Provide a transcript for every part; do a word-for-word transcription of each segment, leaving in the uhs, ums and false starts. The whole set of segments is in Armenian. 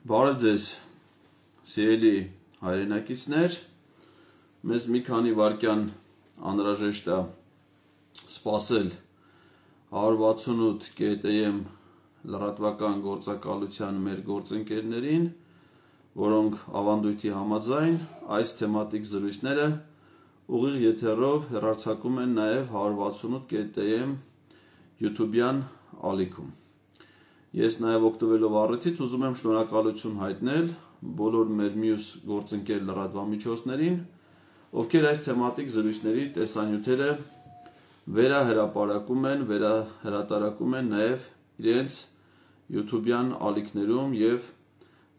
Բարև ձեզ, սիրելի հայրենակիցներ, մեզ մի քանի վայրկյան անհրաժեշտ է սպասել հարյուր վաթսունութ կետ էմ լրատվական գործակալության մեր գործընկերներին, որոնք ավանդույթի համաձայն այս թեմատիկ զրույցները ուղիղ եթերով հեռարձակում են նաև հարյուր վաթսունութ կետ էմ YouTube-յան ալիքում։ Ես նաև օգտվելով առիթից ուզում եմ շնորհակալություն հայտնել բոլոր մեր մյուս գործընկեր լրատվամիջոցներին, ովքեր այս թեմատիկ զրույցների տեսանյութերը վերահրապարակում են, վերահրատարակում են նաև իրենց YouTube-յան ալիքներում և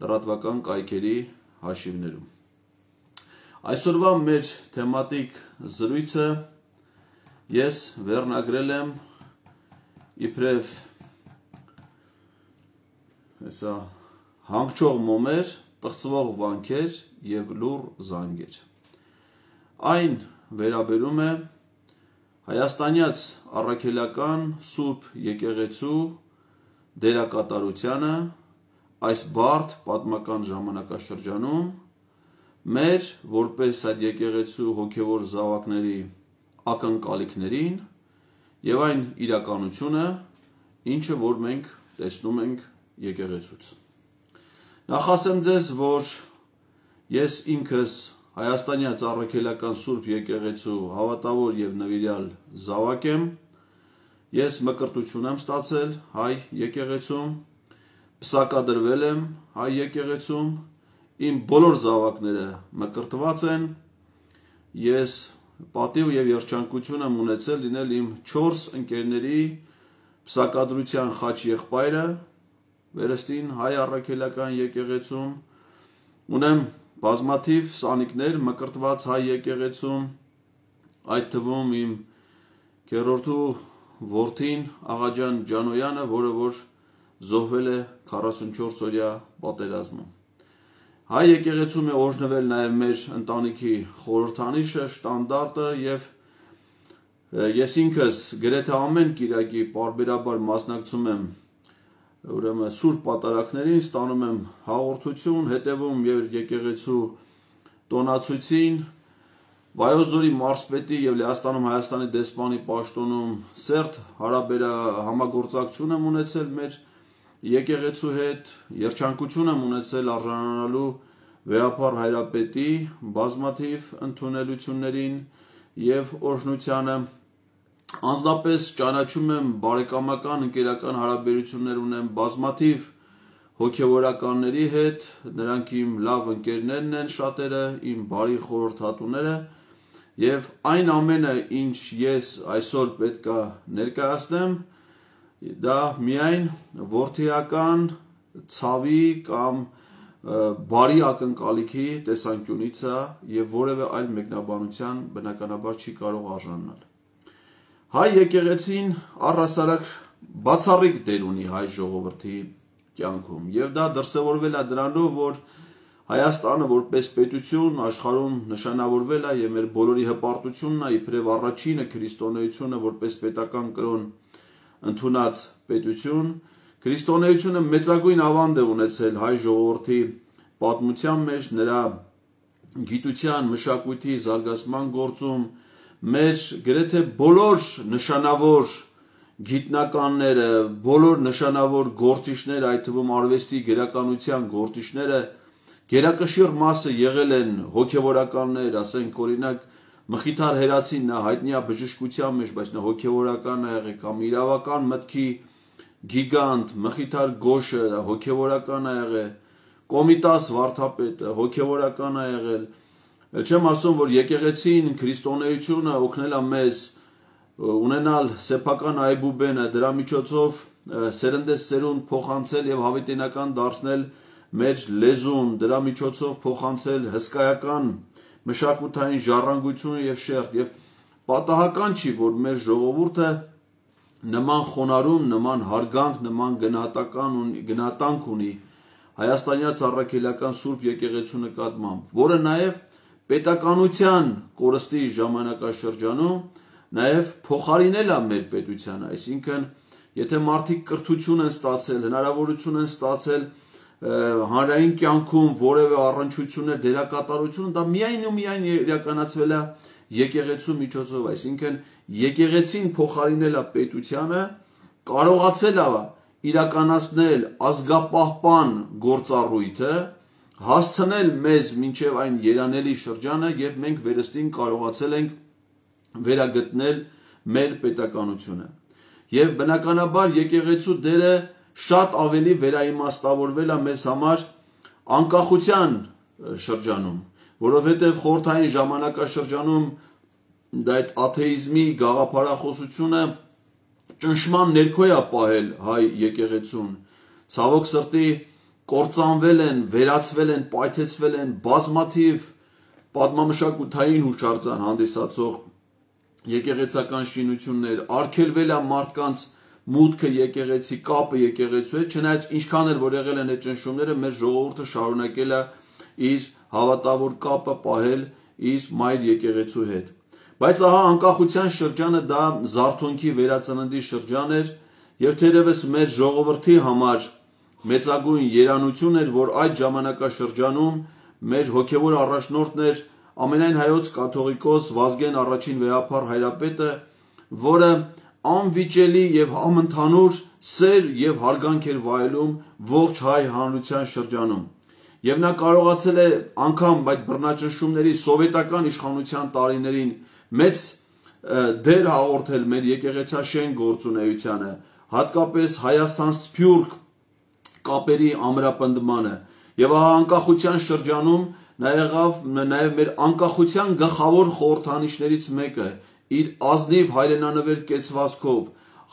լրատվական կայքերի հաշիվներում։ Այսօրվա մեր թեմատիկ զրույցը ես վերնագրել եմ իբրև Հեսա հանգչող մոմեր, պղծվող վանքեր և լուռ զանգեր։ Այն վերաբերում է հայաստանյաց առաքելական Սուրբ եկեղեցու դերակատարությանը այս բարդ պատմական ժամանակաշրջանում, մեր որպես այդ եկեղեցու հոգևոր զավակների ակնկալիքներին և այն իրականությունը, ինչը որ մենք տեսնում ենք եկեղեցուց։ Նախ ասեմ ձեզ, որ ես ինքս հայաստանյաց առաքելական Սուրբ եկեղեցու հավատավոր և նվիրյալ զավակ եմ, ես մկրտություն եմ ստացել հայ եկեղեցում, պսակադրվել եմ հայ եկեղեցում, իմ բոլոր զավակները մկրտված են, ես պատիվ և երջանկություն եմ ունեցել լինել իմ չորս ընկերների պսակադրության խաչ եղբայրը վերստին հայ առաքելական եկեղեցում, ունեմ բազմաթիվ սանիկներ մկրտված հայ եկեղեցում, այդ թվում իմ քեռորդու որդին Աղաջան Ջանոյանը, որը որ զոհվել է քառասունչորս օրյա պատերազմում։ Հայ եկեղեցում է օրհնվել նաև մեր ընտանիքի խորհրդանիշը, շտանդարտը և ես ինքս գրեթե ամեն կիրակի պարբերաբար մասնակցում եմ ուրեմն սուրբ պատարագներին, ստանում եմ հաղորդություն, հետևում և եկեղեցու տոնացույցին, Վայոց ձորի մարզպետի և Լեհաստանում Հայաստանի դեսպանի պաշտոնում սերտ համագործակցություն եմ ունեցել մեր եկեղեցու հետ, երջանկություն եմ ունեցել արժանանալու Վեհափառ Հայրապետի բազմաթիվ ընդունելություններին և օրհնությանը, անձնապես ճանաչում եմ բարեկամական, ընկերական հարաբերություններ ունեմ բազմաթիվ հոգևորականների հետ, նրանք իմ լավ ընկերներն են շատերը, իմ բարի խորհրդատուները և այն ամենը, ինչ ես այսօր պետք է ներկայացնեմ, դա միայն որդիական ցավի կամ բարի ակնկալիքի տեսանկյունից է և որևէ այլ մեկնաբանության բնականաբար չի կարող արժանանալ։ Հայ եկեղեցին առհասարակ բացառիկ դեր ունի հայ ժողովրդի կյանքում և դա դրսևորվել է դրանով, որ Հայաստանը որպես պետություն աշխարհում նշանավորվել է և մեր բոլորի հպարտությունն է իբրև առաջինը քրիստոնեությունը որպես պետական կրոն ընդունած պետություն, քրիստոնեությունը մեծագույն ավանդ է ունեցել հայ ժողովրդի պատմության մեջ, նրա գիտության, մշակույթի զարգացման գործում, մեր գրեթե բոլոր նշանավոր գիտնականները, բոլոր նշանավոր գործիչները, այդ թվում արվեստի գրականության գործիչները, գերակշիռ մասը եղել են հոգևորականներ, ասենք օրինակ Մխիթար Հերացին, նա հայտնի է բժշկության մեջ, բայց նա հոգևորական է եղել, կամ իրավական մտքի գիգանտ Մխիթար Գոշը հոգևորական է եղել, Կոմիտաս վարդապետը հոգևորական է եղել, չեմ ասում, որ եկեղեցին, քրիստոնեությունը օգնել է մեզ ունենալ սեփական այբուբենը, դրա միջոցով սերնդես սերունդ փոխանցել և հավիտենական դարձնել մեր լեզուն, դրա միջոցով փոխանցել հսկայական մշակութային ժառանգություն և շերտ և պատահական չի, որ մեր ժողովուրդը նման խոնարհում, նման հարգանք, նման գնահատանք ունի հայաստանյաց առաքելական Սուրբ եկեղեցու նկատմամբ, որը նաև պետականության կորստի ժամանակաշրջանում նաև փոխարինել է մեր պետությանը, այսինքն եթե մարդիկ կրթություն են ստացել, հնարավորություն են ստացել հանրային կյանքում որևէ առնչություններ, դերակատարություն, դա միայն ու միայն իրականացվել է եկեղեցու միջոցով, այսինքն եկեղեցին փոխարինել է պետությանը, կարողացել է իրականացնել ազգապահպան գործառույթը, հասցնել մեզ մինչև այն երանելի շրջանը եւ մենք վերստին կարողացել ենք վերագտնել մեր պետականությունը։ Եվ բնականաբար եկեղեցու դերը շատ ավելի վերաիմաստավորվել է մեզ համար անկախության շրջանում, որովհետև խորհրդային ժամանակաշրջանում այդ աթեիզմի գաղափարախոսությունը ճնշման ներքո է պահել հայ եկեղեցուն, ցավոք սրտի կործանվել են, վերացվել են, պայթեցվել են բազմաթիվ պատմամշակութային հուշարձան հանդիսացող եկեղեցական շինություններ, արգելվել է մարդկանց մուտքը եկեղեցի, կապը եկեղեցու հետ, չնայած ինչքան էլ որ եղել են այդ ճնշումները, մեր ժողովուրդը շարունակել է իր հավատավոր կապը պահել իր մայր եկեղեցու հետ։ Բայց ահա անկախության շրջանը դա զարթոնքի վերածննդի շրջան էր եւ թերևս մեր ժողովրդի համար մեծագույն երանություն էր, որ այդ ժամանակաշրջանում մեր հոգևոր առաջնորդն էր ամենայն հայոց կաթողիկոս Վազգեն առաջին վեհափառ հայրապետը, որը անվիճելի եւ համընդհանուր սեր եւ հարգանք էր վայելում ողջ հայ հանրության շրջանում։ Եվ նա կարողացել է անգամ այդ բռնաճնշումների սովետական իշխանության տարիներին մեծ դեր հաղորդել մեր եկեղեցաշեն գործունեությանը, հատկապես Հայաստան-Սփյուռք կապերի ամրապնդմանը։ Եվ ահա անկախության շրջանում նա եղավ նաև մեր անկախության գլխավոր խորհրդանիշներից մեկը, իր ազնիվ հայրենանվեր կեցվածքով,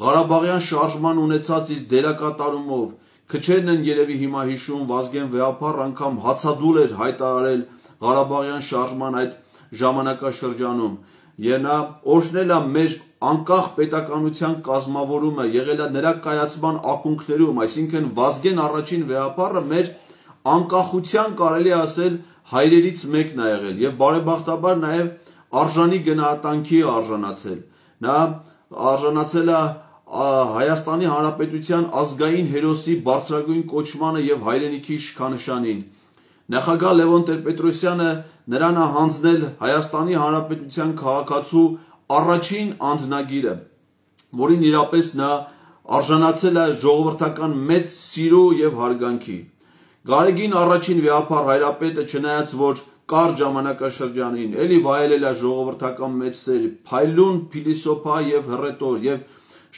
Ղարաբաղյան շարժման ունեցած իր դերակատարումով, քչերն են երևի հիմա հիշում, Վազգեն վեհափառ անգամ հացադուլ էր հայտարարել Ղարաբաղյան շարժման այդ ժամանակաշրջանում, եւ նա օրհնել է մեր անկախ պետականության կազմավորումը, եղել է նրա կայացման ակունքներում, այսինքն Վազգեն առաջին վեհափառը մեր անկախության կարելի ասել հայրերից մեկն է եղել եւ բարեբախտաբար նաեւ արժանի գնահատանքի արժանացել։ Նա արժանացել է Հայաստանի Հանրապետության ազգային հերոսի բարձրագույն կոչմանը եւ հայրենիքի շքանշանին։ Նախագահ Լևոն Տեր-Պետրոսյանը նրան է հանձնել Հայաստանի Հանրապետության քաղաքացու առաջին անձնագիրը, որին իրապես նա արժանացել է ժողովրդական մեծ սիրո եւ հարգանքի։ Գարեգին առաջին վեհափառ հայրապետը, չնայած որ կարճ ժամանակաշրջանին էլի վայելել է ժողովրդական մեծ սեր, փայլուն փիլիսոփա եւ հռետոր եւ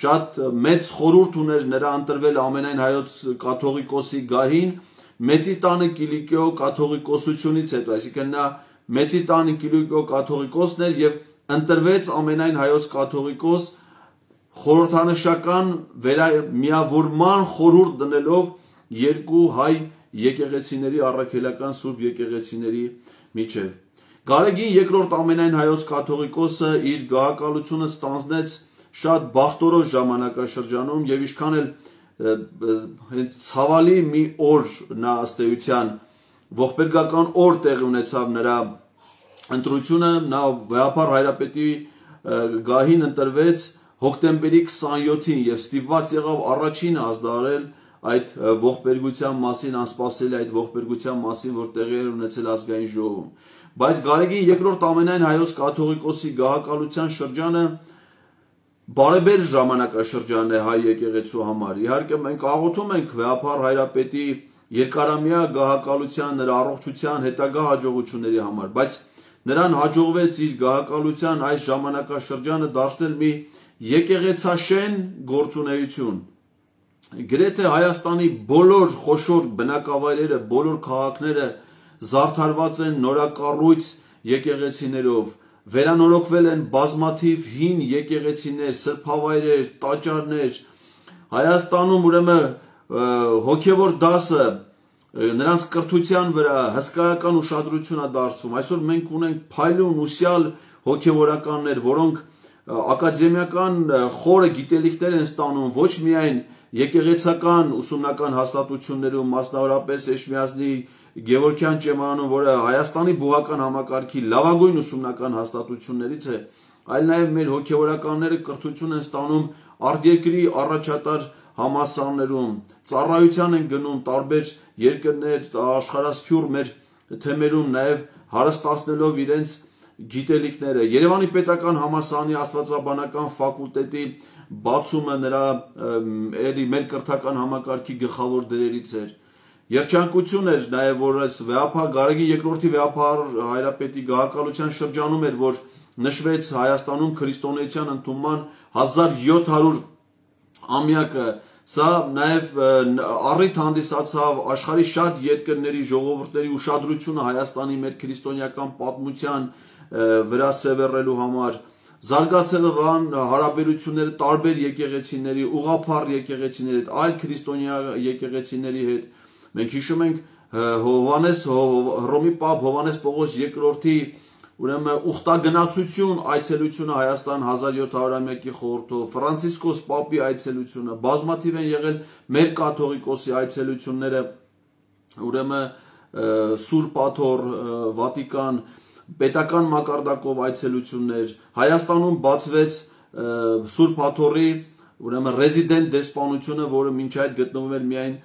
շատ մեծ խորհուրդ ուներ նրա ընտրվել ամենայն հայոց կաթողիկոսի գահին Մեծի տանը Կիլիկիո կաթողիկոսությունից հետո, այսինքն նա Մեծի տանը Կիլիկիո կաթողիկոսն էր եւ ընտրվեց ամենայն հայոց կաթողիկոս խորհրդանշական վերամիավորման խորհուրդ դնելով երկու հայ եկեղեցիների առաքելական սուրբ եկեղեցիների միջև։ Գարեգին երկրորդ ամենայն հայոց կաթողիկոսը իր գահակալությունը ստանձնեց շատ բախտորոշ ժամանակաշրջանում եւ ինչքան էլ ցավալի մի օր նա ըստ էության ողբերգական օր տեղի ունեցավ նրա ընտրությունը, նա վեհափառ հայրապետի գահին ընտրվեց հոկտեմբերի քսանյոթին եւ ստիպված եղավ առաջինը ազդարել այդ ողբերգության մասին, անսպասելի այդ ողբերգության մասին, որ տեղի էր ունեցել ազգային ժողովում։ Բայց Գարեգին երկրորդ ամենայն հայոց կաթողիկոսի գահակալության շրջանը բարեբեր ժամանակաշրջան է հայ եկեղեցու համար։ Իհարկե մենք աղոթում ենք վեհափառ հայրապետի երկարամյա գահակալության, նրա առողջության հետագա հաջողությունների համար, բայց նրան հաջողվեց իր գահակալության այս ժամանակաշրջանը դարձնել մի եկեղեցաշեն գործունեություն։ Գրեթե Հայաստանի բոլոր խոշոր բնակավայրերը, բոլոր քաղաքները զարդարված են նորակառույց եկեղեցիներով, վերանորոգվել են բազմաթիվ հին եկեղեցիներ, սրբավայրեր, տաճարներ։ Հայաստանում ուրեմն հոգևոր դասը նրանց կրթության վրա հսկայական ուշադրություն է դարձվում։ Այսօր մենք ունենք փայլուն ուսյալ հոգևորականներ, որոնք ակադեմիական խորը գիտելիքներ են ստանում ոչ միայն եկեղեցական ուսումնական հաստատություններում, մասնավորապես Էջմիածնի Գևորգյան ճեմարանում, որը Հայաստանի բուհական համակարգի լավագույն ուսումնական հաստատություններից է, այլ նաև մեր հոգևորականները կրթություն են ստանում արտերկրի առաջատար համալսարաններում, ծառայության են գնում տարբեր երկրներ, աշխարհասփյուռ մեր թեմերում, նաև հարստացնելով իրենց գիտելիքները։ Երևանի պետական համալսարանի աստվածաբանական ֆակուլտետի բացումը նրա մեր կրթական համակարգի գլխավոր դերերից էր։ Երջանկություն էր նաև, որ այս վեհափառ Գարեգին երկրորդի վեհափառ հայրապետի գահակալության շրջանում էր, որ նշվեց Հայաստանում քրիստոնեության ընդունման հազար յոթ հարյուր ամյակը։ Սա նաև առիթ հանդիսացավ աշխարհի շատ երկրների ժողովուրդների ուշադրությունը Հայաստանի մեր քրիստոնեական պատմության վրա սևեռելու համար։ Զարգացել են հարաբերությունները տարբեր եկեղեցիների, ուղղափառ եկեղեցիների հետ, այլ քրիստոնյա եկեղեցիների հետ։ Մենք հիշում ենք Հովանես Հռոմի Պապ Հովանես Պողոս երկրորդի ուրեմն ուխտագնացություն այցելությունը Հայաստան հազար յոթ հարյուրամյակի խորհրդով, Ֆրանցիսկոս Պապի այցելությունը, բազմաթիվ են եղել մեր կաթողիկոսի այցելությունները, ուրեմն Սուրբ Աթոռ, Վատիկան, պետական մակարդակով այցելություններ, Հայաստանում բացվեց Սուրբ Աթոռի ուրեմն ռեզիդենտ դեսպանությունը, որը մինչ այդ գտնվում էր միայն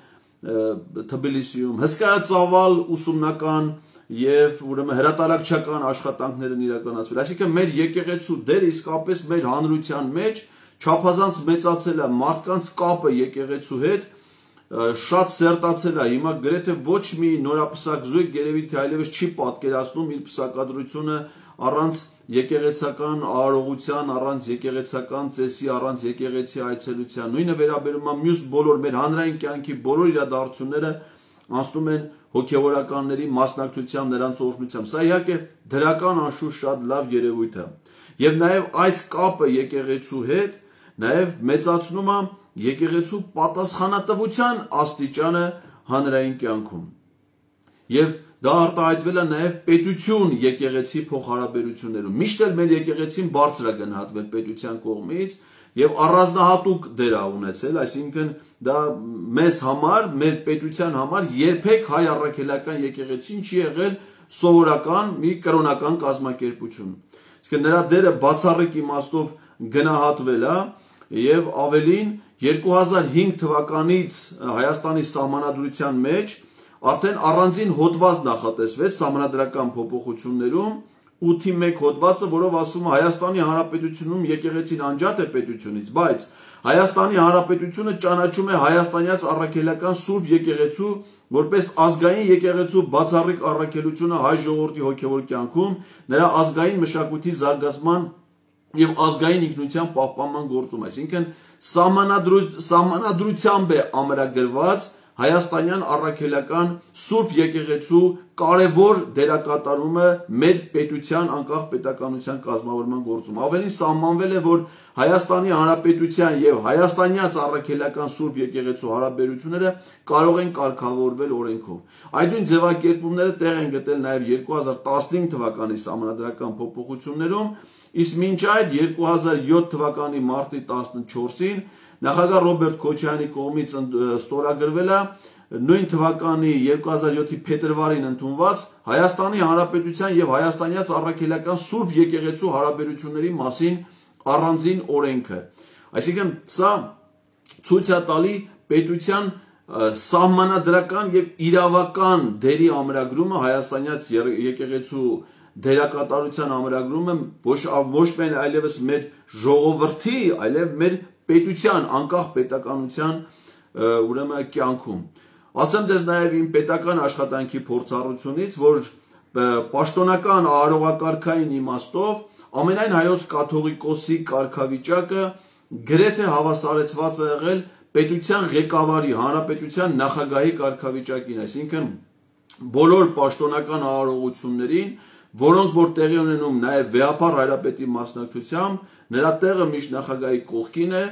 Թբիլիսիում, հսկայածավալ ուսումնական եւ ուրեմն հրատարակչական աշխատանքներն իրականացվել։ Այսինքն մեր եկեղեցու դերը իսկապես մեր հանրության մեջ չափազանց մեծացել է, մարդկանց կապը եկեղեցու հետ շատ սերտացել է։ Հիմա գրեթե ոչ մի նորապսակ զույգ երևի թե այլևս չի պատկերացնում իր պսակադրությունը առանց եկեղեցական արարողության, առանց եկեղեցական ծեսի, առանց եկեղեցի այցելության։ Նույնը վերաբերում է մյուս բոլոր մեր հանրային կյանքի բոլոր իրադարձությունները անցնում են հոգևորականների մասնակցությամբ, նրանց օրհնությամբ։ Սա իհարկե դրական անշուշտ շատ լավ երևույթ է։ Եվ նաև այս կապը եկեղեցու հետ նաև մեծացնում է եկեղեցու պատասխանատվության աստիճանը հանրային կյանքում։ Եվ դա արտահայտվել է նաև պետություն եկեղեցի փոխհարաբերություններում։ Միշտ էլ մեր եկեղեցին բարձր է գնահատվել պետության կողմից եւ առանձնահատուկ դեր է ունեցել, այսինքն դա մեզ համար, մեր պետության համար երբեք հայ առաքելական եկեղեցին չի եղել սովորական մի կրոնական կազմակերպություն։ Իսկ նրա դերը բացառիկ իմաստով գնահատվել է եւ ավելին երկու հազար հինգ թվականից Հայաստանի սահմանադրության մեջ արդեն առանձին հոդված նախատեսվեց սահմանադրական փոփոխություններում ութի մեկ հոդվածը, որով ասում է Հայաստանի Հանրապետությունում եկեղեցին անջատ է պետությունից, բայց Հայաստանի Հանրապետությունը ճանաչում է հայաստանյաց առաքելական Սուրբ եկեղեցու որպես ազգային եկեղեցու բացառիկ առաքելությունը հայ ժողովրդի հոգևոր կյանքում, նրա ազգային մշակույթի զարգացման եւ ազգային ինքնության պահպանման գործում, այսինքն սահմանադրությամբ է ամրագրված հայաստանյան առաքելական Սուրբ եկեղեցու կարևոր դերակատարումը մեր պետության անկախ պետականության կազմավորման գործում։ Ավելին սահմանվել է, որ Հայաստանի Հանրապետության եւ հայաստանյաց առաքելական Սուրբ եկեղեցու հարաբերությունները կարող են կարգավորվել օրենքով։ Այդ նույն ձևակերպումները տեղ են գտել նաեւ երկու հազար տասնհինգ թվականի սահմանադրական փոփոխություններում, իսկ մինչ այդ երկու հազար յոթ թվականի մարտի տասնչորսին նախագահ Ռոբերտ Քոչարյանի կողմից ստորագրվել է նույն թվականի երկու հազար յոթի փետրվարին ընդունված Հայաստանի Հանրապետության եւ հայաստանյաց առաքելական Սուրբ եկեղեցու հարաբերությունների մասին առանձին օրենքը։ Այսինքն սա ցույց է տալի պետության սահմանադրական եւ իրավական դերի ամրագրումը հայաստանյաց եկեղեցու դերակատարության ամրագրումը ոչ ոչ միայն այլևս մեր ժողովրդի, այլև մեր պետության անկախ պետականության ուրեմն կյանքում։ Ասեմ դες նաև իմ պետական աշխատանքի փորձառությունից, որ պաշտոնական արարողակարգային իմաստով ամենայն հայոց կաթողիկոսի կարգավիճակը գրեթե հավասարեցված է եղել պետության ղեկավարի, հանրապետության նախագահի կարգավիճակին, այսինքն բոլոր պաշտոնական արարողություններին, որոնք որ տեղի ունենում նաև վեհափառ հայրապետի մասնակցությամբ, նրա տեղը միշտ նախագահի կողքին է,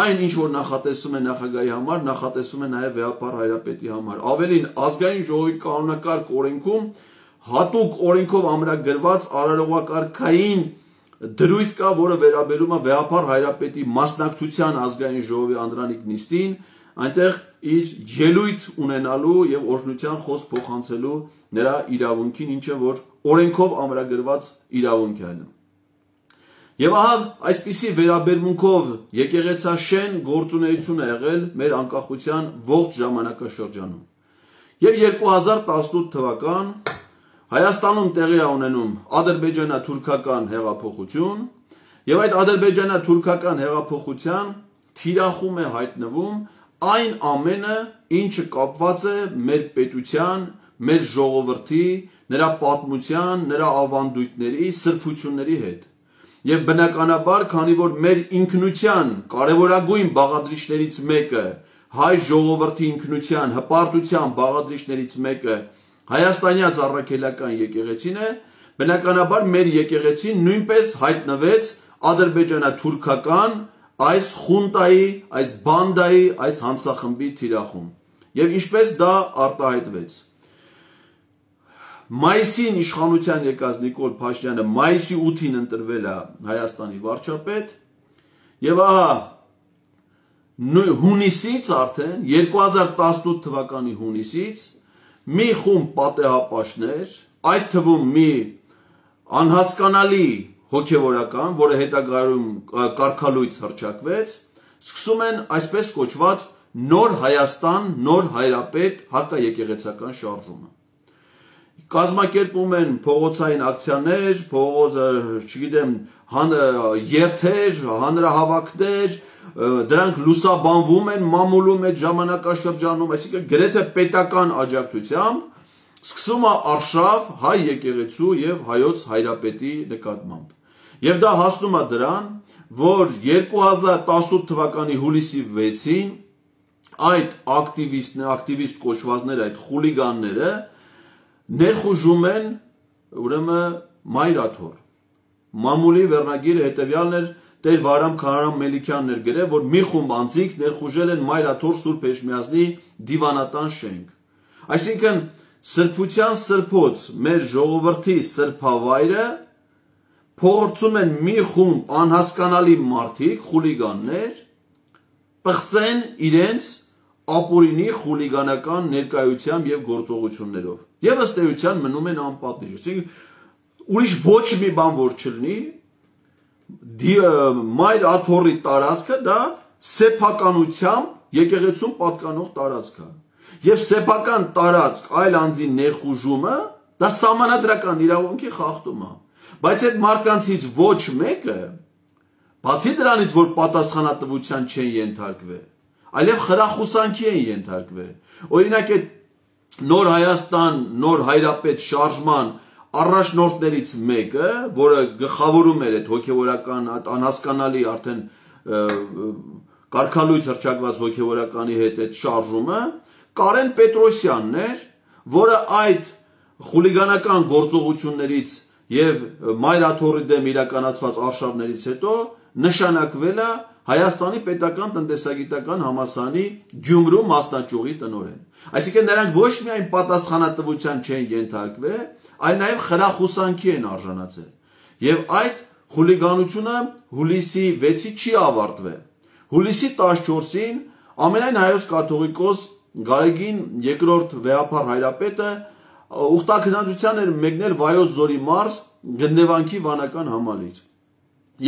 այն ինչ որ նախատեսում է նախագահի համար, նախատեսում է նաև վեհափառ հայրապետի համար։ Ավելին, ազգային ժողովի կանոնակարգ օրենքում հատուկ օրենքով ամրագրված արարողակարգային դրույթ կա, որը վերաբերում է վեհափառ հայրապետի մասնակցության ազգային ժողովի անդրանիկ նիստին, այնտեղ իր ելույթ ունենալու եւ օրհնության խոսք փոխանցելու նրա իրավունքին, ինչը որ օրենքով ամրագրված իրավունք է։ Եվ ահա այսպիսի վերաբերմունքով եկեղեցաշեն գործունեություն է եղել մեր անկախության ողջ ժամանակաշրջանում։ Եվ երկու հազար տասնութ թվական Հայաստանում տեղի է ունենում ադրբեջանա-թուրքական հեղափոխություն, եւ այդ ադրբեջանա-թուրքական հեղափոխության թիրախում է հայտնվում այն ամենը, ինչը կապված է մեր պետության, մեր ժողովրդի, նրա պատմության, նրա ավանդույթների, սրբությունների հետ։ Եվ բնականաբար, քանի որ մեր ինքնության կարևորագույն բաղադրիչներից մեկը, հայ ժողովրդի ինքնության, հպարտության բաղադրիչներից մեկը հայաստանյաց առաքելական եկեղեցին է, բնականաբար մեր եկեղեցին նույնպես հայտնվեց ադրբեջանա-թուրքական այս խունտայի, այս բանդայի, այս հանցախմբի թիրախում։ Եվ ինչպես դա արտահայտվեց։ Մայիսին իշխանության եկած Նիկոլ Փաշինյանը մայիսի ութին ընտրվել է Հայաստանի վարչապետ, եւ ահա հունիսից արդեն երկու հազար տասնութ թվականի հունիսից մի խումբ պատեհապաշտներ, այդ թվում մի անհասկանալի հոգևորական, որը հետագայում կարգալույց հռչակվեց, սկսում են այսպես կոչված նոր Հայաստան, նոր հայրապետ հակաեկեղեցական շարժումը։ Կազմակերպում են փողոցային ակցիաներ, փողոց, չգիտեմ, երթեր, հանրահավաքներ, դրանք լուսաբանվում են մամուլում այդ ժամանակաշրջանում, այսինքն գրեթե պետական աջակցությամբ սկսում է արշավ հայ եկեղեցու եւ հայոց հայրապետի նկատմամբ։ Եվ դա հասնում է դրան, որ երկու հազար տասնութ թվականի հուլիսի վեցին այդ ակտիվիստ, ակտիվիստ կոչվածները, այդ խուլիգանները ներխուժում են ուրեմն Մայրաթոր։ Մամուլի վերնագիրը հետևյալն էր, Տեր Վարամ Քարամ Մելիքյանն էր գրել, որ մի խումբ անձինք ներխուժել են Մայրաթոր Սուրբ Էջմիածնի դիվանատան շենք։ Այսինքն սրբության սրբոց մեր ժողովրդի սրբավայրը փորձում են մի խումբ անհասկանալի մարդիկ, խուլիգաններ, պղծեն իրենց ապօրինի խուլիգանական ներկայությամբ եւ գործողություններով։ Եվ ըստ էության մնում են անպատիժ։ Այսինքն ուրիշ ոչ մի բան որ չլինի, Մայր աթոռի տարածքը դա սեփականությամբ եկեղեցուն պատկանող տարածք է։ Եվ սեփական տարածք այլ անձի ներխուժումը դա սահմանադրական իրավունքի խախտում է։ Բայց այդ մարդկանցից ոչ մեկը, բացի դրանից, որ պատասխանատվության չեն ենթարկվել, այլև խրախուսանքի են ենթարկվել։ Օրինակ այդ Նոր Հայաստան, նոր հայրապետ շարժման առաջնորդներից մեկը, որը գլխավորում էր այդ հոգևորական անհասկանալի արդեն կարգալույց հռչակված հոգևորականի հետ այդ շարժումը, Կարեն Պետրոսյանն էր, որը այդ խուլիգանական գործողություններից եւ Մայրաթոռի դեմ իրականացված արշավներից հետո նշանակվել է Հայաստանի պետական տնտեսագիտական համալսարանի Գյումրու մասնաճյուղի տնօրեն։ Այսինքն նրանք ոչ միայն պատասխանատվության չեն ենթարկվել, այլ նաև խրախուսանքի են արժանացել։ Եվ այդ խուլիգանությունը հուլիսի վեցի չի ավարտվել։ Հուլիսի տասնչորսին ամենայն հայոց կաթողիկոս Գարեգին երկրորդ վեհափառ հայրապետը ուխտաքննադության էր մեկնել Վայոց Ձորի մարզ Գնդեվանքի վանական համալիր։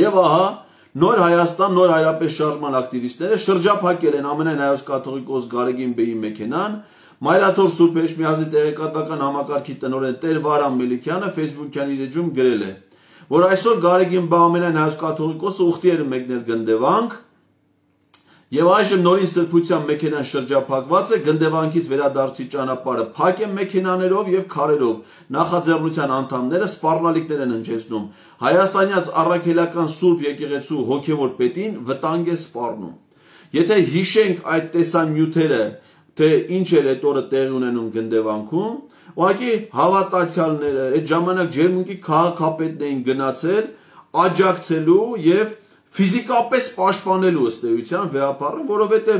Եվ ահա Նոր Հայաստան, նոր հայրապետ շարժման ակտիվիստները շրջափակել են ամենայն հայոց կաթողիկոս Գարեգին բեի մեքենան, Մայրաթոռ Սուրբ Էջմիածնի տեղեկատվական համակարգի տնօրեն Տեր Վարամ Մելիքյանը Facebook-յան իր էջում գրել է, որ այսօր Գարեգին բա ամենայն հայոց կաթողիկոսը ուխտի էր մեկնել Գնդեվանք, եւ այժմ նորին սրբության մեքենան շրջափակված է, Գնդեվանքից վերադարձի ճանապարհը փակ է մեքենաներով եւ քարերով։ Նախաձեռնության անդամները սպառնալիքներ են հնչեցնում։ Հայաստանյաց առաքելական Սուրբ եկեղեցու հոգևոր պետին վտանգ է սպառնում։ Եթե հիշենք այդ տեսանյութերը, թե ինչ էր այդ օրը տեղի ունենում Գնդեվանքում, ուղղակի հավատացյալները այդ ժամանակ ջերմունքի քաղաքապետն էին գնացել աջակցելու եւ ֆիզիկապես պաշտպանելու ըստ էության վեհապառը, որովհետև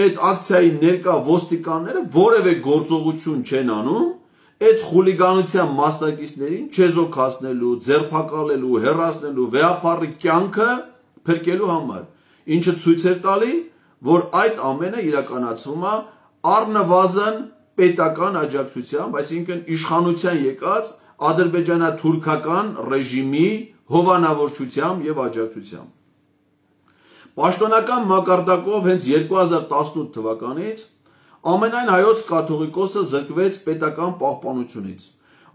այդ ակցիայի ներկա ոստիկանները որևէ գործողություն չեն անում այդ խուլիգանության մասնակիցներին չեզոքացնելու, ձերբակալելու, հեռացնելու, վեհապառի կյանքը փրկելու համար, ինչը ցույց էր տալի, որ այդ ամենը իրականացվում է առնվազն պետական աջակցությամբ, այսինքն իշխանության եկած ադրբեջանա-թուրքական ռեժիմի հովանավորչությամբ եւ աջակցությամբ։ Պաշտոնական մակարդակով հենց երկու հազար տասնութ թվականից ամենայն հայոց կաթողիկոսը զրկվեց պետական պահպանությունից,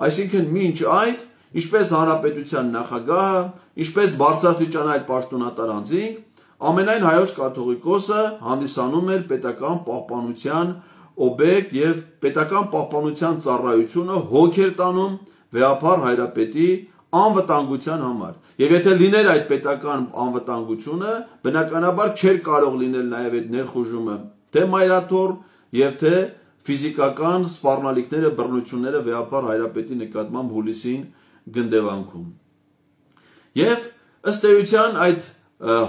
այսինքն մինչ այդ, ինչպես հանրապետության նախագահը, ինչպես բարձրաստիճան այդ պաշտոնատար անձինք, ամենայն հայոց կաթողիկոսը հանդիսանում էր պետական պահպանության օբյեկտ եւ պետական պահպանության ծառայությունը հոգ էր տանում վեհափառ հայրապետի անվտանգության համար։ Եվ եթե լիներ այդ պետական անվտանգությունը, բնականաբար չէր կարող լինել նաև այդ ներխուժումը թե մայրաթոռ եւ թե ֆիզիկական սպառնալիքները, բռնությունները վեհափառ հայրապետի նկատմամբ հուլիսին գնդեվանքում։ Եվ ըստ էության այդ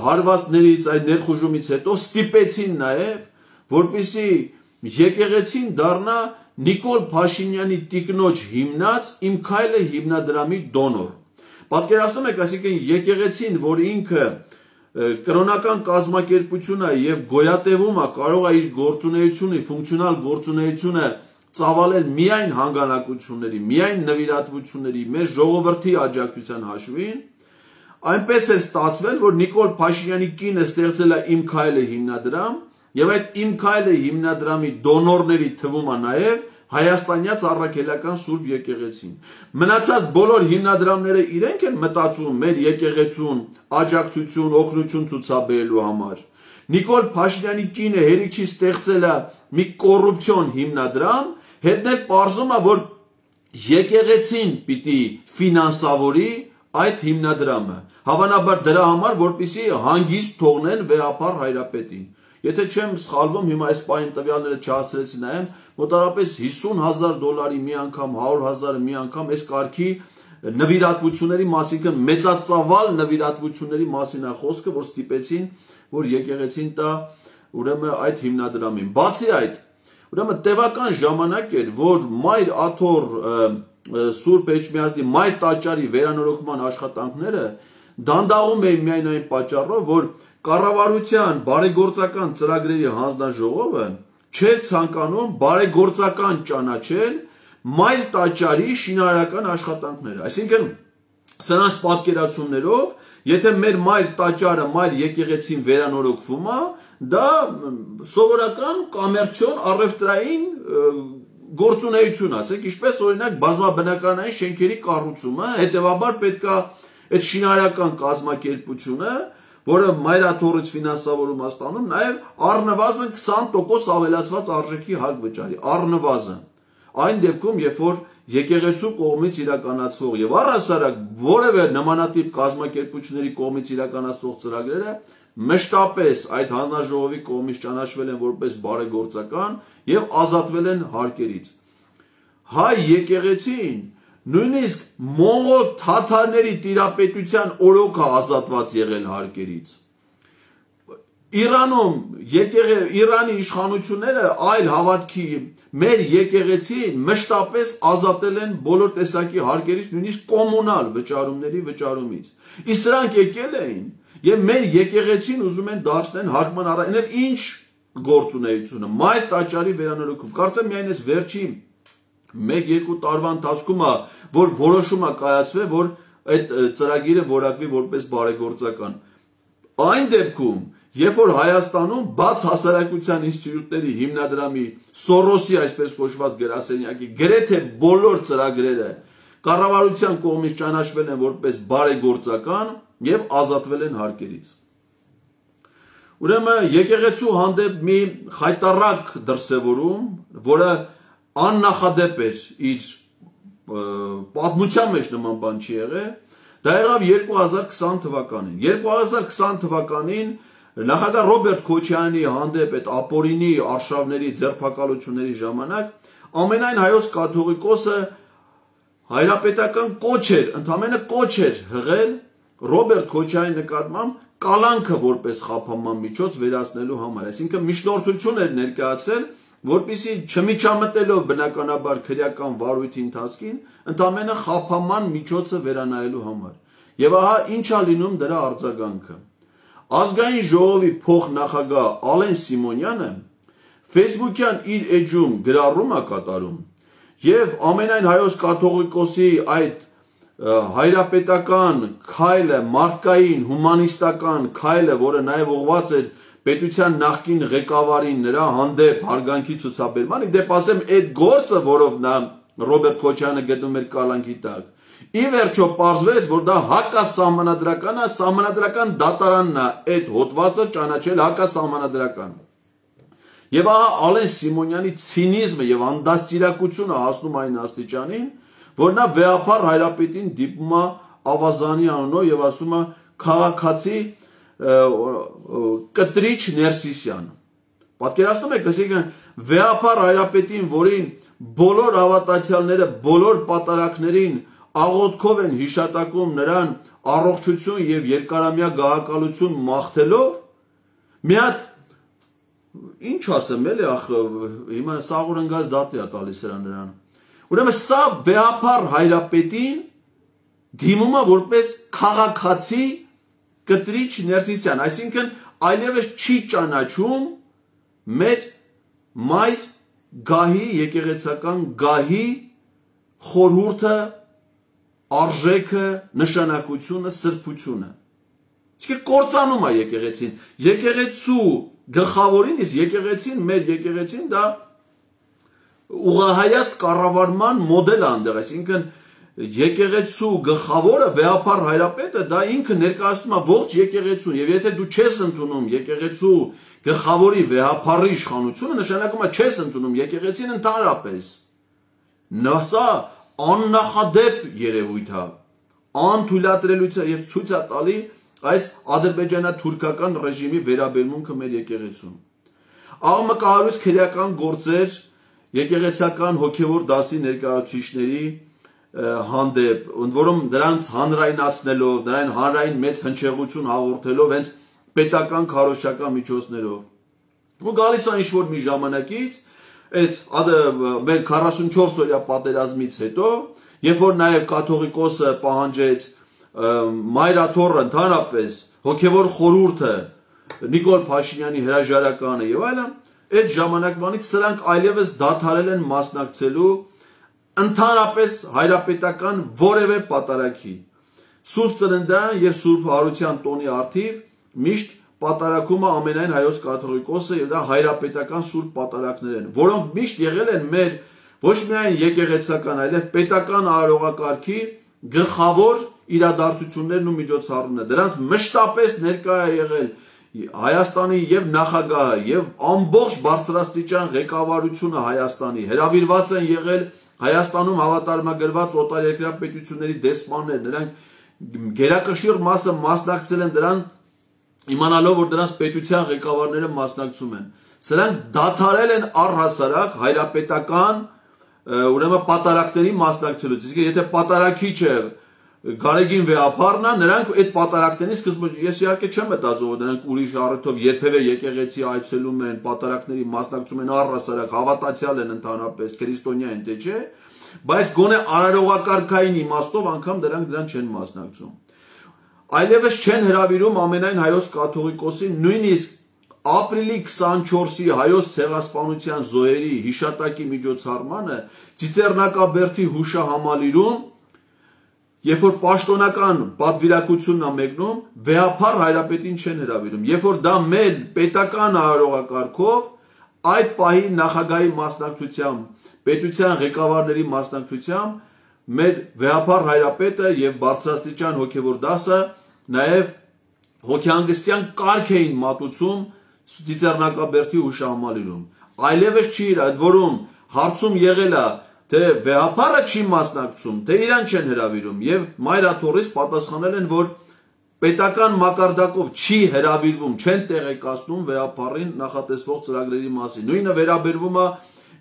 հարվածներից, այդ ներխուժումից հետո ստիպեցին նաև, որպեսզի եկեղեցին դառնա Նիկոլ Փաշինյանի տիկնոջ հիմնած «Իմ քայլը» հիմնադրամի դոնոր։ Պատկերացնում եք, այսինքն եկեղեցին, որ ինքը կրոնական կազմակերպությունը եւ գոյատևումը կարող է իր գործունեությունը, ֆունկցիոնալ գործունեությունը ծավալել միայն հանգանակությունների, միայն նվիրատվությունների, մեր ժողովրդի աջակցության հաշվին, այնպես է ստացվել, որ Նիկոլ Փաշինյանի կինը ստեղծել է «Իմ քայլը» հիմնադրամ, եւ այդ «Իմ քայլը» հիմնադրամի դոնորների թվում է նաեւ հայաստանյաց առաքելական Սուրբ եկեղեցին։ Մնացած բոլոր հիմնադրամները իրենք են մտածում մեր եկեղեցուն աջակցություն, օգնություն ցուցաբերելու համար։ Նիկոլ Փաշինյանի կինը հերիքի ստեղծել է մի կոռուպցիոն հիմնադրամ, հետն էլ պարզում է, որ եկեղեցին պիտի ֆինանսավորի այդ հիմնադրամը, հավանաբար դրա համար, որպեսզի հանգիստ թողնեն վեհափառ հայրապետին։ Եթե չեմ սխալվում, հիմա այս պահին տվյալները չհասցրեցի նայեմ, մոտավորապես հիսուն հազար դոլարի մի անգամ, հարյուր հազարը մի անգամ այս կարգի նվիրատվությունների մասին, մեծածավալ նվիրատվությունների մասին է խոսքը, որ ստիպեցին, որ եկեղեցին տա ուրեմն այդ հիմնադրամին։ Բացի այդ, ուրեմն տևական ժամանակ էր, որ Մայր Աթոռ Սուրբ Էջմիածնի Մայր տաճարի վերանորոգման աշխատանքները դանդաղում էին միայն այն պատճառով, որ կառավարության բարեգործական ծրագրերի հանձնաժողովը չէր ցանկանում բարեգործական ճանաչել Մայր տաճարի շինարարական աշխատանքները։ Այսինքն, սրանց պատկերացումներով, եթե մեր Մայր տաճարը, Մայր եկեղեցին վերանորոգվում է, դա սովորական կոմերցիոն առևտրային գործունեություն, ասենք, ինչպես օրինակ բազմաբնականային շենքերի կառուցումը, հետևաբար պետք է այդ շինարարական կազմակերպությունը, որը Մայր Աթոռից ֆինանսավորում է ստանում, նաև առնվազն քսան տոկոս ավելացված արժեքի հակ վճարի, առնվազն։ Այն դեպքում, երբ որ եկեղեցու կողմից իրականացվող եւ առհասարակ որևէ նմանատիպ կազմակերպությունների կողմից իրականացվող ծրագրերը մշտապես այդ հանձնաժողովի կողմից ճանաչվել են որպես բարեգործական եւ ազատվել են հարկերից։ Հայ եկեղեցին նույնիսկ մոնղոլ թաթարների տիրապետության օրոք է ազատված եղել հարկերից։ Իրանում Իրանի իշխանությունները այլ հավատքի մեր եկեղեցին մշտապես ազատել են բոլոր տեսակի հարկերից, նույնիսկ կոմունալ վճարումների վճարումից։ Իսկ սրանք եկել էին եւ մեր եկեղեցին ուզում են դարձնել հարկման առ ինչ գործունեությունը, Մայր տաճարի վերանորոգում։ Կարծեմ միայն այս վերջին մեկ-երկու տարվա ընթացքում է, որ որոշումը կայացվել, որ այդ ծրագիրը որակվի որպես բարեգործական։ Այն դեպքում, երբ որ Հայաստանում բաց հասարակության ինստիտուտների հիմնադրամի Սորոսի այսպես կոչված գրասենյակի գրեթե բոլոր ծրագրերը կառավարության կողմից ճանաչվել են որպես բարեգործական եւ ազատվել են հարկերից։ Ուրեմն եկեղեցու հանդեպ մի խայտառակ դրսևորում, որը աննախադեպ էր իր պատմության մեջ նման բան չի եղել, դա եղավ երկու հազար քսան թվականին։ երկու հազար քսան թվականին նախագահ Ռոբերտ Քոչարյանի հանդեպ այդ ապօրինի արշավների ձերբակալությունների ժամանակ ամենայն հայոց կաթողիկոսը հայրապետական կոչ էր, ընդամենը կոչ էր հղել Ռոբերտ Քոչարյանի նկատմամբ կալանքը որպես խափանման միջոց վերացնելու համար, այսինքն միջնորդություն էր ներկայացել, որպեսզի չմիջամտելով բնականաբար քրեական վարույթի ընթացքին, ընդամենը խափանման միջոցը վերանայելու համար։ Եվ ահա ինչ է լինում դրա արձագանքը։ Ազգային ժողովի փոխնախագահ Ալեն Սիմոնյանը Facebook-յան իր էջում գրառում է կատարում եւ ամենայն հայոց կաթողիկոսի այդ հայրապետական քայլը, մարդկային, հումանիստական քայլը, որը նաև ուղղված էր պետության նախկին ղեկավարին նրա հանդեպ հարգանքի ցուցաբերման, իդեպ ասեմ, այդ գործը, որով նա Ռոբերտ Քոչարյանը գտնում էր կալանքի տակ, ի վերջո պարզվեց, որ դա հակասահմանադրական է, սահմանադրական դատարանն է այդ հոդվածը ճանաչել հակասահմանադրական։ Եվ ահա Ալեն Սիմոնյանի ցինիզմը եւ անդաստիարակությունը հասնում այն աստիճանին, որ նա վեհափառ հայրապետին դիպում է ավազանի անունով եւ ասում է քաղաքացի կտրիչ Ներսիսյան։ Պատկերացնում եք, այսինքն վեհափառ հայրապետին, որին բոլոր հավատացյալները, բոլոր պատարակներին աղոթքով են հիշատակում նրան առողջություն եւ երկարամյա գահակալություն մաղթելով, մի հատ ինչ ասեմ, էլի ախ, հիմա սաղուր ընկած դատի է տալիս նրան։ Ուրեմն սա վեհափառ հայրապետին դիմում է որպես քաղաքացի կտրիչ Ներսիսյան, այսինքն այլևս չի ճանաչում մեր մայր գահի, եկեղեցական գահի խորհուրդը, արժեքը, նշանակությունը, սրբությունը։ Իսկ կործանում է եկեղեցին։ Եկեղեցու գլխավորին, իսկ եկեղեցին, մեր եկեղեցին դա ուղղահայաց կառավարման մոդել է այնտեղ, այսինքն եկեղեցու գլխավորը վեհափառ հայրապետը դա ինքը ներկայացնում է ողջ եկեղեցուն, եւ եթե դու չես ընդունում եկեղեցու գլխավորի վեհափառի իշխանությունը, նշանակում է չես ընդունում եկեղեցին ընդհանրապես։ Նասա աննախադեպ երևույթ է, անթույլատրելույթ է եւ ցույց է տալի այս ադրբեջանա-թուրքական ռեժիմի վերաբերմունքը մեր եկեղեցուն։ Աղմկահարույց քրեական գործեր եկեղեցական հոգևոր դասի ներկայացուցիչների հանդեպ, որում նրանց հանրայնացնելով, նրան հանրային մեծ հնչեղություն հաղորդելով հենց պետական քարոզչական միջոցներով։ Ու գալիս է ինչ-որ մի ժամանակից, այդ մեր քառասունչորս օրյա պատերազմից հետո, երբ որ նաև կաթողիկոսը պահանջեց Մայրաթոռը ընդհանրապես հոգևոր խորհուրդը Նիկոլ Փաշինյանի հրաժարականը եւ այլն, այդ ժամանակվանից սրանք այլևս դադարել են մասնակցելու ընդհանրապես հայրապետական որևէ պատարագի։ Սուրբ Ծննդյան եւ Սուրբ Հարության տոնի առթիվ միշտ պատարակումը ամենայն հայոց կաթողիկոսը եւ դա հայրապետական սուրբ պատարակներ են, որոնք միշտ եղել են մեր ոչ միայն եկեղեցական, այլև պետական արարողակարգի գլխավոր իրադարձություններն ու միջոցառումները։ Դրանց մշտապես ներկա է եղել Հայաստանի եւ նախագահը եւ ամբողջ բարձրաստիճան ղեկավարությունը Հայաստանի, հրավիրված են եղել Հայաստանում հավատարմագրված օտարերկրյա պետությունների դեսպաններ, նրանք գերակշիռ մասը մասնակցել են դրան, իմանալով, որ դրանց պետության ղեկավարները մասնակցում են։ Սրանք դադարել են առհասարակ հայրապետական ուրեմն պատարակների մասնակցելուց։ Իսկ եթե պատարակիչը Գարեգին վեհափառն է, նրանք այդ պատարակների սկզբում, ես իհարկե չեմ մտածում, որ նրանք ուրիշ առիթով երբևէ եկեղեցի այցելում են, պատարակների մասնակցում են, առհասարակ հավատացյալ են ընդհանրապես, քրիստոնյա են, թե չէ, բայց գոնե արարողակարգային իմաստով անգամ դրանք դրան չեն մասնակցում։ Այլևս չեն հրավիրում ամենայն հայոց կաթողիկոսին, նույնիսկ ապրիլի քսանչորսի հայոց ցեղասպանության զոհերի հիշատակի միջոցառմանը Ծիծեռնակաբերդի հուշահամալիրում, երբ որ պաշտոնական պատվիրակությունն է մեկնում, վեհափառ հայրապետին չեն հրավիրում, երբ որ դա մեր պետական արարողակարգով այդ պահի նախագահի մասնակցությամբ, պետության ղեկավարների մասնակցությամբ մեր վեհափառ հայրապետը եւ բարձրաստիճան հոգևոր դասը նաեւ հոգեհանգստյան կարգ էին մատուցում Ծիծեռնակաբերդի հուշահամալիրում։ Այլևս չի իր, այդ որում հարցում եղել է, թե վեհափառը չի մասնակցում, թե իրան չեն հրավիրում եւ Մայրաթոռից պատասխանել են, որ պետական մակարդակով չի հրավիրվում, չեն տեղեկացնում վեհափառին նախատեսվող ծրագրերի մասին։ Նույնը վերաբերվում է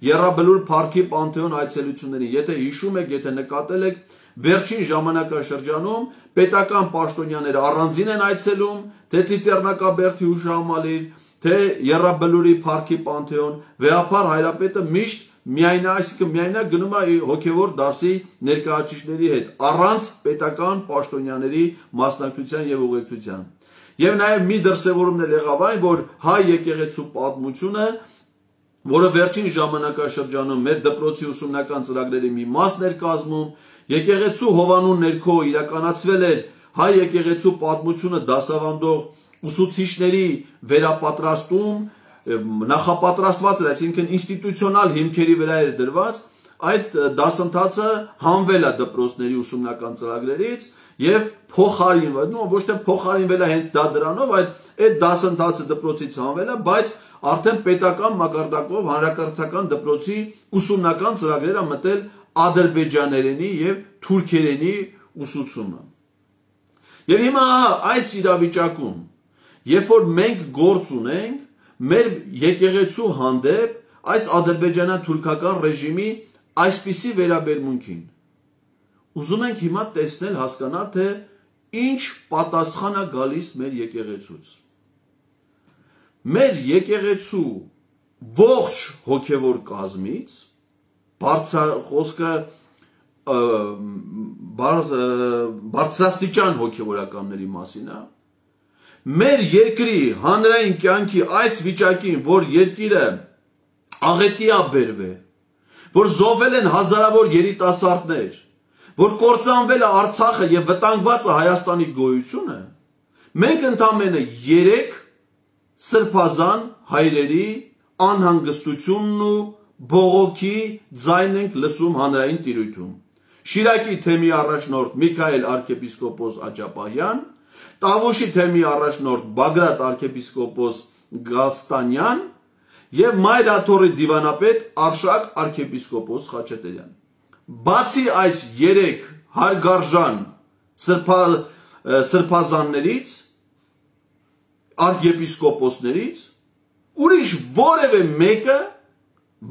Եռաբլուր Փարքի Պանթեոն այցելություններին։ Եթե հիշում եք, եթե նկատել եք, վերջին ժամանակաշրջանում պետական պաշտոնյաները առանձին են այցելում, թե Ծիծեռնակաբերդի հուշահամալիր, թե Եռաբլուրի Փարքի Պանթեոն, վեհափառ հայրապետը միշտ միայն այսինքն միայնակ գնում է հոգևոր դասի ներկայացուցիչների հետ, առանց պետական պաշտոնյաների մասնակցության եւ ուղեկցության։ Եվ նաեւ մի դրսեւորումն էլ եղավ այն, որ հայ եկեղեցու պատմությունը որը վերջին ժամանակաշրջանում մեր դպրոցի ուսումնական ծրագրերի մի մասն էր կազմում, եկեղեցու հովանու ներքո իրականացվել էր հայ եկեղեցու պատմությունը դասավանդող ուսուցիչների վերապատրաստում, նախապատրաստված էր, այսինքն ինստիտուցիոնալ հիմքերի վրա էր դրված, այդ դասընթացը հանվել է դպրոցների ուսումնական ծրագրերից եւ փոխարինվել, նո ոչ թե փոխարինվել է հենց դա դրանով, այլ այդ դասընթացը դպրոցից հանվել է, բայց արդեն պետական մակարդակով հանրակրթական դպրոցի ուսումնական ծրագրերը մտել ադրբեջաներենի եւ թուրքերենի ուսուցումը։ Եվ հիմա այս իրավիճակում, երբ որ մենք գործ ունենք մեր եկեղեցու հանդեպ այս ադրբեջանա-թուրքական ռեժիմի այսպիսի վերաբերմունքին, ուզում ենք հիմա տեսնել, հասկանալ, թե ինչ պատասխան է գալիս մեր եկեղեցուց։ Մեր եկեղեցու ողջ հոգևոր կազմից, խոսքը բարձրաստիճան հոգևորականների մասին է, մեր երկրի հանրային կյանքի այս վիճակին, որ երկիրը աղետի է բերվել, որ զոհվել են հազարավոր երիտասարդներ, որ կործանվել է Արցախը եւ վտանգված է Հայաստանի գոյությունը, մենք ընդամենը երեք սրբազան հայրերի անհանգստությունն ու բողոքի ձայն ենք լսում հանրային տիրույթում։ Շիրակի թեմի առաջնորդ Միքայել arczepiskopos Աջապահյան, Տավուշի թեմի առաջնորդ Բագրատ arczepiskopos Գալստանյան եւ Մայր Աթոռի դիվանապետ Արշակ arczepiskopos Խաչատրյան։ Բացի այս երեք հարգարժան սրբազաններից, arczepiskoposներից, ուրիշ որևէ մեկը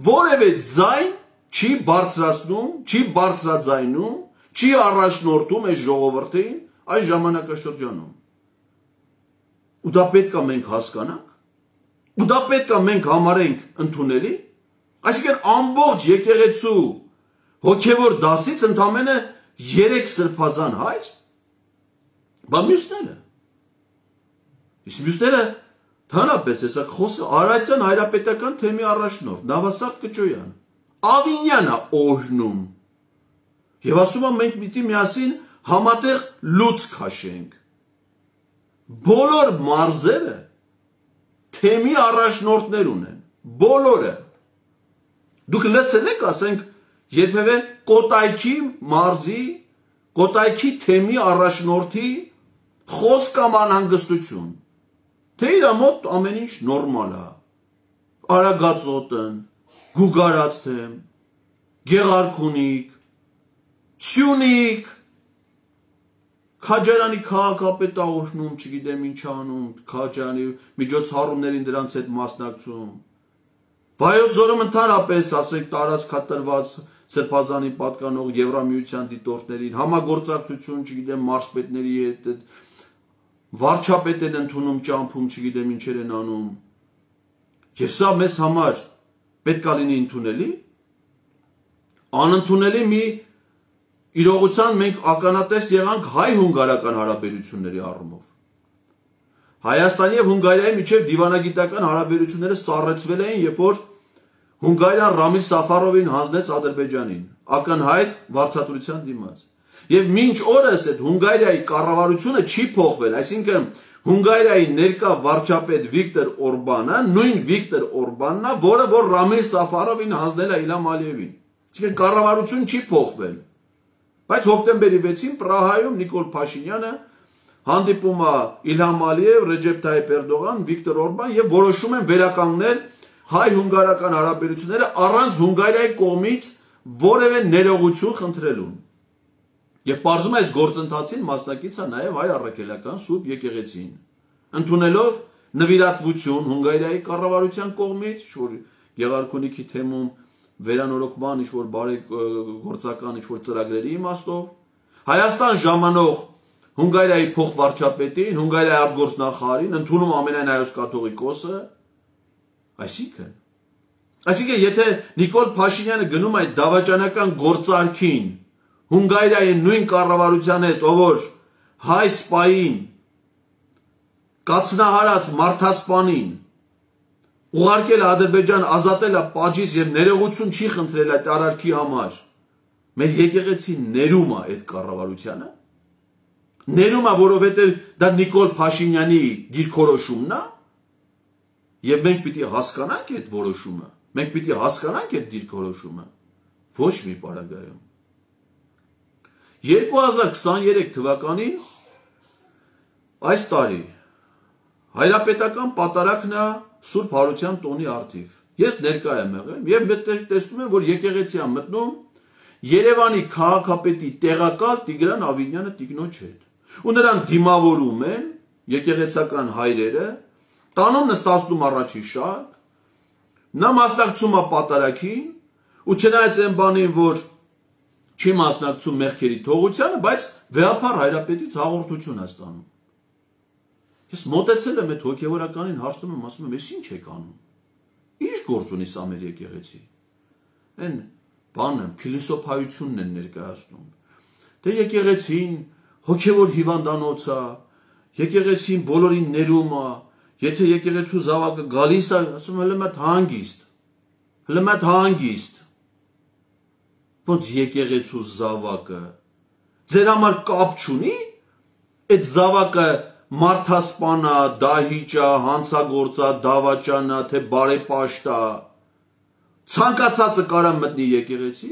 որևէ ձայն չի բարձրացնում, չի բարձրաձայնում, չի առաջնորդում այս ժողովրդին այս ժամանակաշրջանում։ Ու դա պետք է մենք հասկանանք, ու դա պետք է մենք համարենք ընդունելի, այսինքն ամբողջ եկեղեցու հոգևոր դասից ընդամենը երեք սրբազան հայր, բա մյուսները, իսկ մյուսները Հանրապես հեսա խոսը Արարատյան հայրապետական թեմի առաջնորդ Նավասարդ Կճոյան, Ավինյանը օրհնում եւ ասում է մենք պիտի միասին համատեղ լուծ քաշենք։ Բոլոր մարզերը թեմի առաջնորդներ ունեն, բոլորը։ Դուք լսել եք, ասենք, երբևէ Կոտայքի մարզի, Կոտայքի թեմի առաջնորդի խոսք կամ անհանգստություն, թե իր մոտ ամեն ինչ նորմալ է, Արագածոտն, Գուգարաց թեմ, Գեղարքունիք, Սյունիք, Քաջարյանի քաղաքապետը օրհնում, չգիտեմ ինչ անում, Քաջարյանի միջոցառումներին դրանց հետ մասնակցում, Վայոց Ձորում ընդհանրապես, ասենք, տարածքատրված սրբազանի պատկանող Եվրամիության դիտորդներին, համագործակցություն, չգիտեմ, մարզպետների հետ, վարչապետ են ընդունում, ճամփում, չգիտեմ ինչեր են անում։ Եվ սա մեզ համար պետք է լինի ընդունելի, անընդունելի մի իրողության մենք ականատես եղանք հայ-հունգարական հարաբերությունների առումով։ Հայաստանի եւ Հունգարիայի միջև դիվանագիտական հարաբերությունները սառեցվել էին, երբ որ Հունգարիան Ռամիլ Սաֆարովին հանձնեց Ադրբեջանին, ակնհայտ վարձատրության դիմաց։ Եվ մինչ օրս այդ Հունգարիայի կառավարությունը չի փոխվել, այսինքն Հունգարիայի ներկա վարչապետ Վիկտոր Օրբանը, նույն Վիկտոր Օրբանն է, որը որ Ռամիլ Սաֆարովին հանձնել է Իլհամ Ալիևին։ Այսինքն կառավարություն չի փոխվել։ Բայց հոկտեմբերի վեցին Պրահայում Նիկոլ Փաշինյանը հանդիպում է Իլհամ Ալիև, Ռեջեփ Թայիփ Էրդողան, Վիկտոր Օրբան եւ որոշում են վերականգնել հայ-հունգարական հարաբերությունները առանց Հունգարիայի կողմից որևէ ներողություն խնդրելուն։ Եվ պարզում է այս գործընթացին մասնակից է նաև հայ առաքելական Սուրբ եկեղեցին, ընդունելով նվիրատվություն Հունգարիայի կառավարության կողմից, որ Գեղարքունիքի թեմում վերանորոգման ինչ-որ բարեգործական ինչ-որ ծրագրերի իմաստով, Հայաստան ժամանող Հունգարիայի փոխվարչապետին, Հունգարիայի արտգործնախարարին, ընդունում ամենայն հայոց կաթողիկոսը, այսինքն, այսինքն եթե Նիկոլ Փաշինյանը գնում այդ դավաճանական գործարքին Հունգարիայի նույն կառավարության հետ, ով որ հայ սպային, կացնահարած մարդասպանին ուղարկել է Ադրբեջան, ազատել է պատժից եւ ներողություն չի խնդրել այդ արարքի համար։ Մեր եկեղեցին ներում է այդ կառավարությանը։ Ներում է, որովհետեւ դա Նիկոլ Փաշինյանի դիրքորոշումն է։ Եվ մենք պիտի հասկանանք այդ որոշումը։ Մենք պիտի հասկանանք այդ դիրքորոշումը։ Ոչ մի պարագայում։ երկու հազար քսաներեք թվականին այս տարի հայրապետական պատարագն է Սուրբ Հարության տոնի առթիվ։ Ես ներկա եմ եղել եւ մտեղ տեսնում եմ, որ եկեղեցի է մտնում Երևանի քաղաքապետի տեղակալ Տիգրան Ավինյանը տիկնոջ հետ։ Ու նրան դիմավորում են եկեղեցական հայրերը, տանում նստացնում առաջի շարք, նա մասնակցում է պատարագին, ու չնայած այն բանին, որ չի մասնակցում մեղքերի թողությանը, բայց վեհափառ հայրապետից հաղորդություն է ստանում։ Ես մոտեցել եմ այդ հոգևորականին, հարցնում եմ, ասում եմ, «Էս ինչ եք անում։ Ինչ գործ ունի սա մեր եկեղեցի»։ Այն բանը փիլիսոփայությունն են ներկայացնում։ Դե եկեղեցին հոգևոր հիվանդանոց է, եկեղեցին բոլորին ներում է, եթե եկեղեցու զավակը գալիս է, ասում հələ մատ հանգիստ, հələ մատ հանգիստ։ Ոնց եկեղեցու զավակը ձեր համար կապ չունի, այդ զավակը մարդասպանա, դահիճա, հանցագործա, դավաճանա, թե բարեպաշտա, ցանկացածը կարա մտնի եկեղեցի,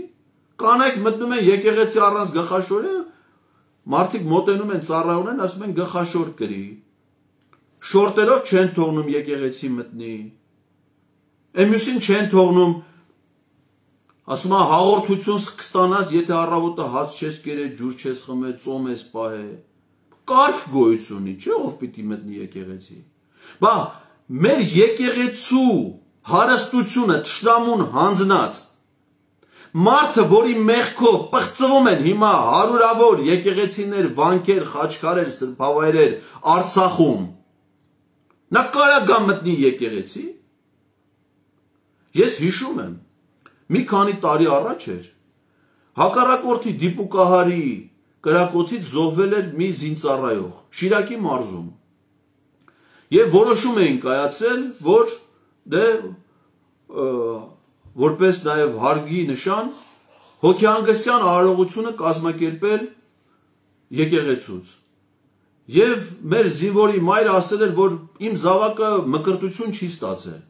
կանայք մտնում են եկեղեցի առանց գլխաշորի, մարդիկ մոտենում են ծառայում են, ասում են գլխաշոր կրի, շորտերով չեն թողնում եկեղեցի մտնի, εμյուսին չեն թողնում, ասում են հաղորդություն կստանաս, եթե առավոտը հաց չես կերել, ջուր չես խմել, ծոմ ես պահել, կարգ գոյություն ունի, չէ՞ ով պիտի մտնի եկեղեցի։ Բա մեր եկեղեցու հարստությունը թշնամուն հանձնած մարդը, որի մեղքով պղծվում են հիմա հարյուրավոր եկեղեցիներ, վանքեր, խաչքարեր, սրբավայրեր Արցախում, նա կարա գա մտնի եկեղեցի։ Ես հիշում եմ, մի քանի տարի առաջ էր, հակառակորդի դիպուկահարի կրակոցից զոհվել էր մի զինծառայող Շիրակի մարզում։ Եվ որոշում էին կայացել, որ դե որպես նաև հարգի նշան հոգեհանգստյան արարողությունը կազմակերպել եկեղեցուց։ Եվ մեր զինվորի մայրը ասել էր, որ իմ զավակը մկրտություն չի ստացել։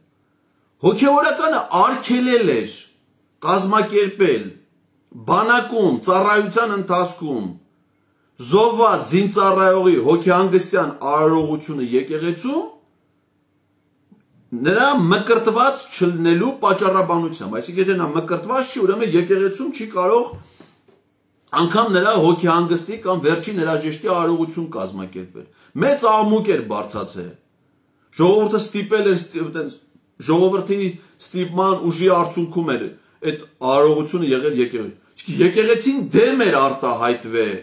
Հոգևորականը արգելել էր կազմակերպել բանակում, ծառայության ընթացքում զոհված զինծառայողի հոգեհանգստյան արարողությունը եկեղեցում նրա մկրտված չլնելու պատճառաբանությամբ, այսինքն եթե նա մկրտված չի, ուրեմն եկեղեցում չի կարող անգամ նրա հոգեհանգստի կամ վերջին հրաժեշտի արարողություն կազմակերպել։ Մեծ աղմուկ էր բարձրացել։ Ժողովուրդը ստիպել էր, ժողովրդի ստիպման ուժի արդյունքում էր այդ արարողությունը եղել եկեղեցի։ Եկեղեցին դեմ էր արտահայտվել,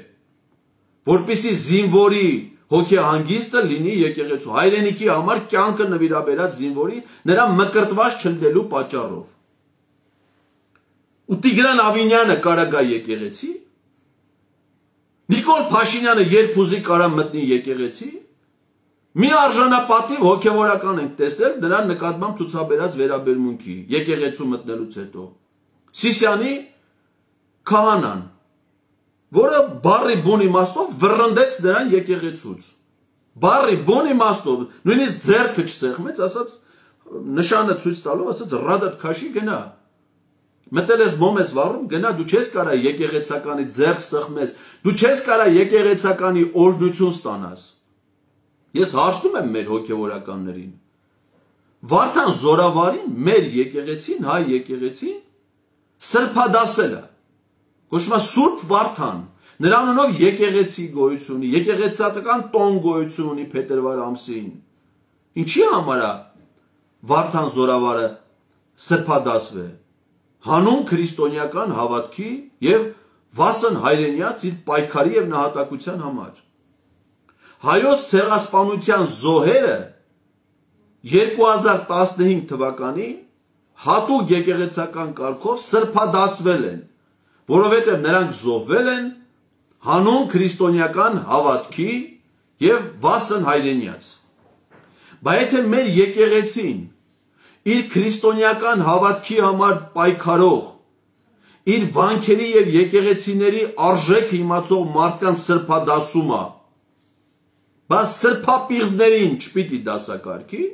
որպեսզի զինվորի հոգեհանգիստը լինի եկեղեցու, հայրենիքի համար կյանքը նվիրաբերած զինվորի նրա մկրտված չլնելու պատճառով։ Ու Տիգրան Ավինյանը կարա գա եկեղեցի, Նիկոլ Փաշինյանը երբ ուզի կարա մտնի եկեղեցի, մի արժանապատիվ հոգևորական ենք տեսել նրա նկատմամբ ցուցաբերած վերաբերմունքի եկեղեցու մտնելուց հետո։ Սիսյանի քահանան, որը բառի բուն իմաստով վռնդեց նրան եկեղեցուց։ Բառի բուն իմաստով, նույնիսկ ձեռքը չսեղմեց, ասաց նշանը ցույց տալով, ասաց ռադատ քաշի գնա։ Մտել ես մոմ ես վառում, գնա, դու չես կարա եկեղեցականի ձեռք սեղմես, դու չես կարա եկեղեցականի օրհնություն ստանաս։ Ես հարցնում եմ մեր հոգևորականներին, Վարդան Զորավարին մեր եկեղեցին, հայ եկեղեցին սրբադասել է, կոչվում է Սուրբ Վարդան, նրա անունով եկեղեցի գոյություն ունի, եկեղեցական տոն գոյություն ունի փետրվար ամսին։ Ինչի համար է Վարդան Զորավարը սրբադասվել, հանուն քրիստոնեական հավատքի եւ վասն հայրենյաց իր պայքարի եւ նահատակության համար։ Հայոց ցեղասպանության զոհերը երկու հազար տասնհինգ թվականին հատուկ եկեղեցական կարգով սրբադասվել են, որովհետև նրանք զոհվել են հանուն քրիստոնեական հավատքի եւ վասն հայրենյաց։ Բայց եթե մեր եկեղեցին իր քրիստոնեական հավատքի համար պայքարող, իր վանքերի և եկեղեցիների արժեքը իմացող մարդկանց սրբադասում է, բայց սրբապիղզներին չպիտի դասակարգի։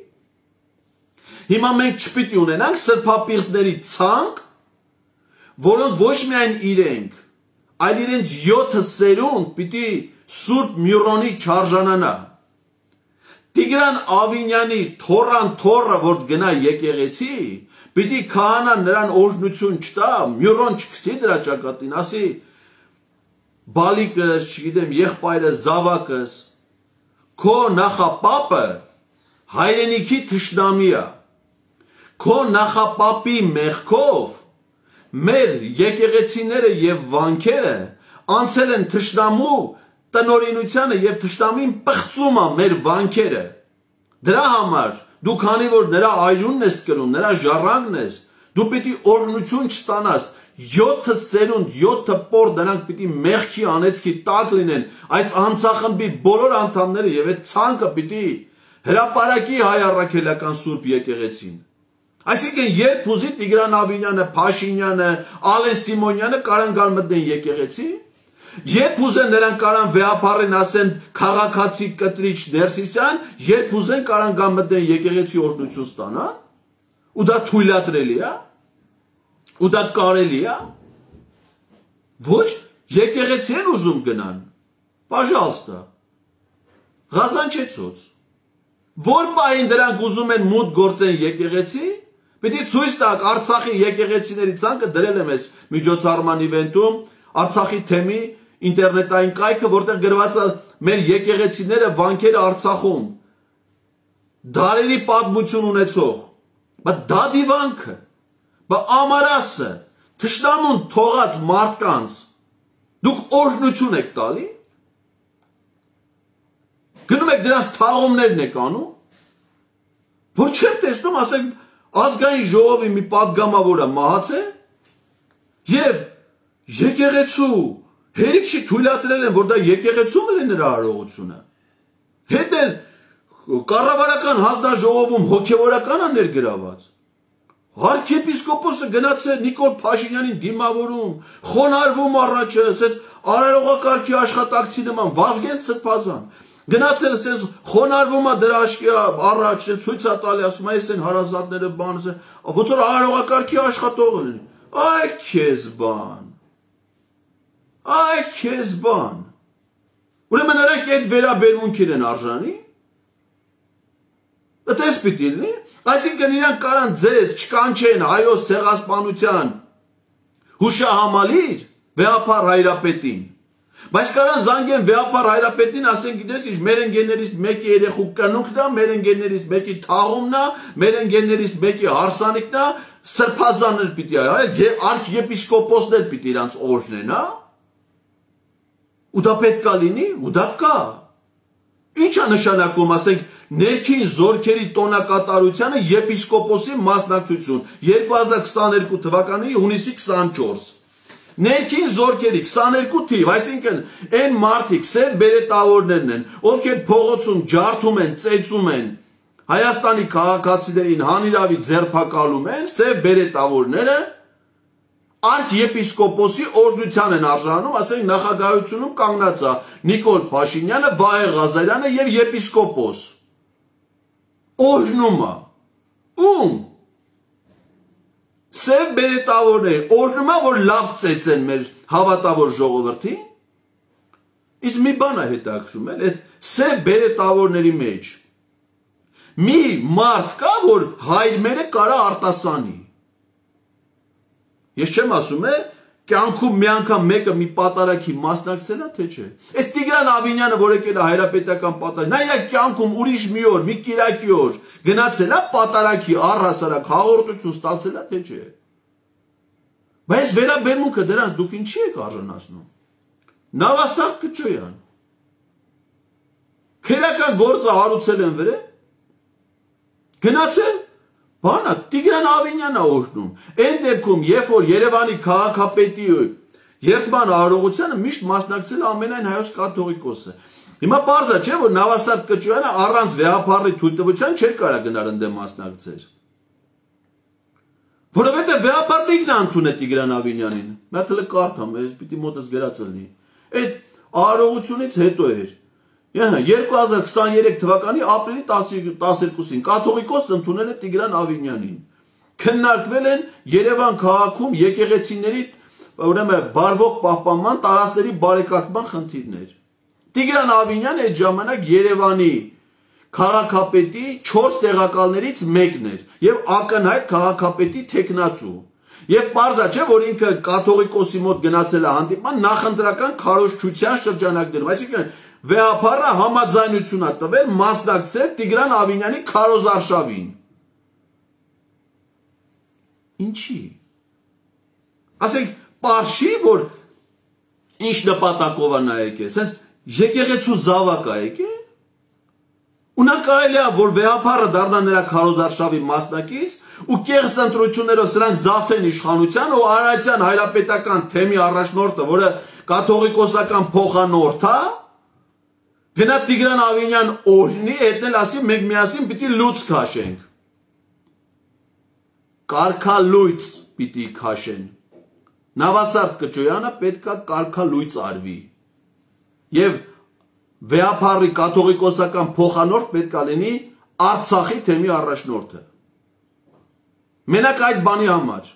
Հիմա մենք չպիտի ունենանք սրբապիղզների ցանկ, որոնք ոչ միայն իրենք, այլ իրենց յոթը սերունդ պիտի Սուրբ Միրոնի չարժանանա։ Տիգրան Ավինյանի թորան թորը, որ գնա եկեղեցի, պիտի քահանան նրան օրհնություն չտա, Միրոն չքսի դրա ճակատին, ասի բալիկս, չգիտեմ, եղբայրս, զավակս, քո նախապապը հայրենիքի թշնամի է, քո նախապապի մեղքով մեր եկեղեցիները և վանքերը անցել են թշնամու տնօրինությանը և թշնամին պղծում է մեր վանքերը։ Դրա համար դու քանի որ նրա այրունն ես կրում, նրա ժառանգն ես, դու պիտի օրհնություն չստանաս, յոթը սերունդ, յոթը պոր դրանք պիտի մեղքի անեծքի տակ լինեն, այս անձախմբի բոլոր անդամները և այդ ցանկը պիտի հրապարակի հայ առաքելական Սուրբ եկեղեցին։ Այսինքն երբ ուզի Տիգրան Ավինյանը, Փաշինյանը, Ալեն Սիմոնյանը կարան գալ մտնեն եկեղեցի, երբ ուզեն նրանք կարան վեհապառին ասեն քաղաքացի կտրիչ Ներսիսյան, երբ ուզեն կարան գալ մտնեն եկեղեցի օրհնություն ստանան, ու դա թույլատրելի է, ու դա կարելի է, ոչ եկեղեցի են ուզում գնան, պաժալստա, Ղազանչեցոց, որ պահին դրանք ուզում են մուտք գործեն եկեղեցի, պիտի ցույց տակ Արցախի եկեղեցիների ցանկը դրել եմ ես միջոցառման իվենտում, Արցախի թեմի ինտերնետային կայքը, որտեղ գրված է մեր եկեղեցիները վանքերը Արցախում, դարերի պատմություն ունեցող, բայց դա դիվանքը, բայց ամարասը, թշնամուն թողած մարդկանց, դուք օրհնություն եք տալի, գնում եք դրանց թաղումներն եք անում, որ չեմ տեսնում, ասենք, ազգային ժողովի մի պատգամավորը մահացել և եկեղեցու հերիք չի թույլատրել են, որ դա եկեղեցում է նրա արարողությունը։ Հետ էլ կառավարական հանձնաժողովում հոգևորական է ներգրաված։ Արքեպիսկոպոսը գնացել Նիկոլ Փաշինյանին դիմավորում, խոնարհվում առաջս, այդ արարողակարգի աշխատակցի նման Վազգեն Սրբազան գնացել ասես խոնարհվում է դրա աշկի առաջ, ցույց է տալի, ասում է, այս են հարազատները բան, ոնց որ արարողակարգի աշխատողը լինի։ Այ քեզ բան։ Այ քեզ բան։ Ուրեմն նրանք այդ վերաբերմունքին են արժանի։ Այդպես պիտի լինի։ Այսինքն իրանք կարան ձեզ չկանչեն հայոց ցեղասպանության հուշահամալիր վեհապար հայրապետին։ Բայց կարան զանգեն վեհապար հայրապետին, ասեն գիտես, ինչ մեր ընկերներից մեկի երեխու կնունքն է, մեր ընկերներից մեկի թաղումն է, մեր ընկերներից մեկի հարսանիքն է, սրբազաններ պիտի արքեպիսկոպոսներ պիտի իրանց օրհնեն, հա։ Ու դա պետք է լինի, ու դա կա։ Ինչ է նշանակում, ասենք, ներքին զորքերի տոնակատարությանը եպիսկոպոսի մասնակցություն երկու հազար քսաներկու թվականի հունիսի քսանչորս։ Ներքին զորքերի քսաներկու թիվ, այսինքն այն մարդիկ սև բերետավորներն են, ովքեր փողոցում ջարդում են, ծեծում են, Հայաստանի քաղաքացիներին հանիրավի ձերբակալում են, սև բերետավորները արքեպիսկոպոսի օրհնության են արժանում, ասենք նախագահությունում կանգնած է Նիկոլ Փաշինյանը, Վահե Ղազարյանը եւ եպիսկոպոս։ Օրհնում է։ Ում սև բերետավորներ, օրհնում է, որ լավ ծեծեն մեր հավատավոր ժողովրդին։ Իսկ մի բան է հետաքրում, էլ այդ սև բերետավորների մեջ մի մարդ կա, որ հայրմերը կարա արտասանի։ Ես չեմ ասում է, կյանքում մի անգամ մեկը մի պատարագի մասնակցել է, թե չէ։ Այս Տիգրան Ավինյանը, որ եկել է հայրապետական պատարագ, նա իր կյանքում ուրիշ մի օր, մի կիրակի օր գնացել է պատարագի առհասարակ հաղորդություն ստացել է, թե չէ։ Բայց վերաբերմունքը դրանց դուք ինչի եք արժանացնում։ Նավասարդ Կճոյան։ Քերական գործը հարուցել են վրա։ Գնացել բանա Տիգրան Ավինյանն է օրհնում։ Այն դեպքում, երբ որ Երևանի քաղաքապետի երդման արարողությանը միշտ մասնակցել է ամենայն հայոց կաթողիկոսը։ Հիմա պարզ է, չէ, որ Նավասարդ Կճոյանը առանց վեհապարի թույլտվության չէր կարա գնալ ընդդեմ մասնակցել։ Որովհետև վեհապարն ինքն է ընդունել Տիգրան Ավինյանին։ Նա թել կարդամ, ես պիտի մոտս գրած լինի։ Այդ արարողությունից հետո էր։ երկու հազար քսաներեք թվականի ապրիլի տասներկուսին կաթողիկոսն ընդունել է Տիգրան Ավինյանին։ Քննարկվել են Երևան քաղաքում եկեղեցիների ուրեմն բարվող պահպանման տարածքների բարեկարգման խնդիրներ։ Տիգրան Ավինյանը այդ ժամանակ Երևանի քաղաքապետի չորս տեղակալներից մեկն էր եւ ակնհայտ քաղաքապետի թեկնածու։ Եվ պարզա չէ, որ ինքը կաթողիկոսի մոտ գնացել է հանդիպման նախընտրական քարոզչության շրջանակներում, այսինքն վեհապարը համաձայնություն է տվել մասնակցել Տիգրան Ավինյանի քարոզարշավին։ Ինչի։ Ասենք պարշի, որ ինչ նպատակով է նա եկել, ասես եկեղեցու զավակ է եկել։ Ու նա կարելի է, որ վեհապարը դառնա նրա քարոզարշավի մասնակից ու կեղծ ընտրություններով սրանք զավթեն իշխանության ու Արարատյան հայրապետական թեմի առաջնորդը, որը կաթողիկոսական փոխանորդ է, գնա Տիգրան Ավինյան օրհնի, հետնել ասի մենք միասին պիտի լույս քաշենք։ Կարգալույծ պիտի քաշեն։ Նավասարդ Կճոյանը պետք է կարգալույծ արվի։ Եվ վեհապարի կաթողիկոսական փոխանորդ պետք է լինի Արցախի թեմի առաջնորդը։ Մենակ այդ բանի համար։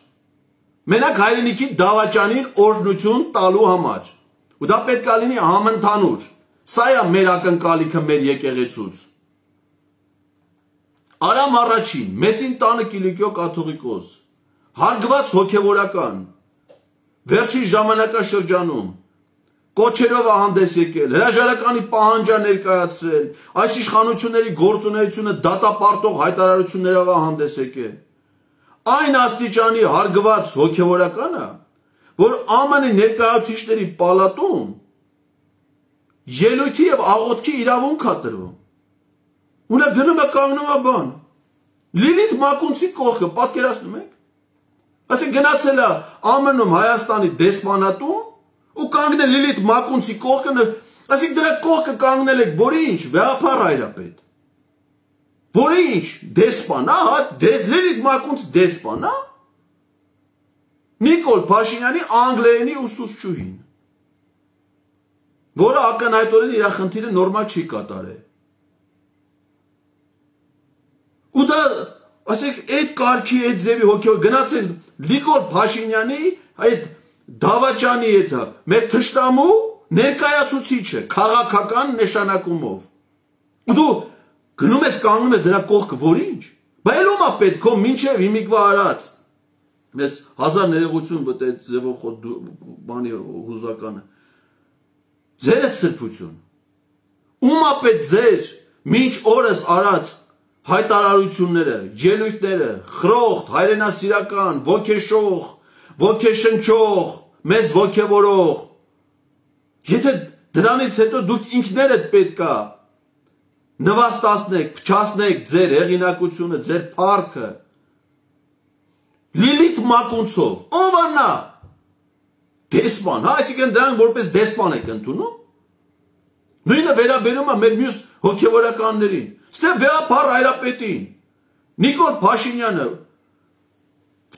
Մենակ հայրենիքի դավաճանին օրհնություն տալու համար։ Ու դա պետք է լինի համընդհանուր։ Սա է մեր ակնկալիքը մեր եկեղեցուց։ Արամ առաջին, մեծին տանը Կիլիկիո կաթողիկոս, հարգված հոգևորական, վերջին ժամանակաշրջանում կոչերով է հանդես եկել, հրաժարականի պահանջ է ներկայացրել, այս իշխանությունների գործունեությունը դատապարտող հայտարարություններով է հանդես եկել։ Այն աստիճանի հարգված հոգևորականը, որ ԱՄՆ-ի ներկայացուցիչների պալատում ելույթի եւ աղոթքի իրավունք է տրվում։ Ու նա գնում է կանգնում է բան։ Լիլիթ Մակունցի կողքը պատկերացնում եք։ Այսինքն գնացել է ԱՄՆ-ում Հայաստանի դեսպանատուն ու կանգնել Լիլիթ Մակունցի կողքը, այսինքն դրա կողքը կանգնել եք, որի ինչ, վեհապար հայրապետ։ Որի ինչ, դեսպան, հա, Լիլիթ Մակունց դեսպան, հա։ Նիկոլ Փաշինյանի անգլերենի ուսուցչուհին, որը ակնհայտորեն իր խնդիրը նորմալ չի կատարել։ Ու դա, ասենք, այդ կարգի, այդ ձևի հոգեոր գնացել Նիկոլ Փաշինյանի այդ դավաճանի հետը մեր թշնամու ներկայացուցիչը քաղաքական նշանակումով։ Ու դու գնում ես կանգնում ես դրա կողքը, որ ինչ։ Բա ելում է պետք քո մինչև հիմիկվա արած։ Մեծ հազար ներողություն բտ այդ ձևով խոտ բանի հուզականը։ Ձեր է սրբություն։ Ում է պետք ձեր մինչ օրս արած հայտարարությունները, ելույթները, խրոխտ, հայրենասիրական, ոգեշող, ոգեշնչող, մեզ ոգևորող։ Եթե դրանից հետո դուք ինքներդ պետք է նվաստացնեք, փչացնեք ձեր հեղինակությունը, ձեր փառքը։ Լիլիթ Մակունցով, ով է նա։ Դեսպան, հա, այսինքն դրանք որպես դեսպան եք ընդունում։ Նույնը վերաբերում է մեր մյուս հոգևորականներին։ Ստե վեհապար հայրապետին։ Նիկոլ Փաշինյանը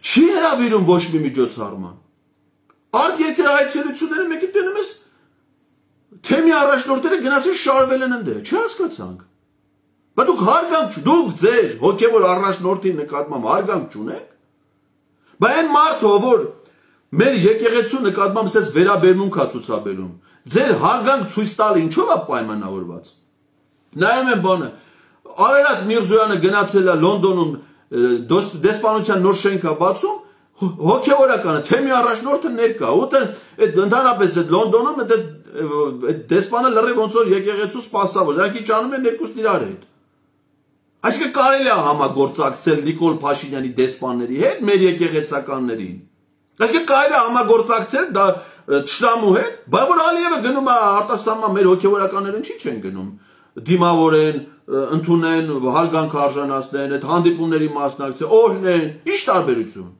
չի հրավիրում ոչ մի միջոցառման։ Արտերկրայցելությունները մեկի տենում ես թեմի առաջնորդները գնացին շարվել են ընդե, չհասկացանք։ Բայց դուք հարգանք, դուք ձեր հոգևոր առաջնորդի նկատմամբ հարգանք չունեք։ Բայց այն մարդը, որ մեր եկեղեցու նկատմամբ ասես վերաբերմունք է ցուցաբերում, ձեր հարգանք ցույց տալ ինչով է պայմանավորված։ Նայում եմ բանը, Արարատ Միրզոյանը գնացել է Լոնդոնում դեսպանության նոր շենք է բացում, հոգևորականը թեմի առաջնորդը ներկա, ուտը այդ ընդհանրապես այդ Լոնդոնում այդ դեսպանը լրիվ ոնց որ եկեղեցու սպասավոր, դրանք ինչ անում են երկուսն իրար հետ։ Այսինքն կարելի է համագործակցել Նիկոլ Փաշինյանի դեսպանների հետ, մեր եկեղեցականներին։ Այսինքն կարելի է համագործակցել դա Թշնամու հետ, բայց որ Ալիևը գնում է արտասահման մեր հոգևորականներն չի չեն գնում, դիմավորեն, ընդունեն, հարգանք արժանացնեն, այդ հանդիպումների մասնակցեն, օրհնեն, ի՞նչ տարբերություն։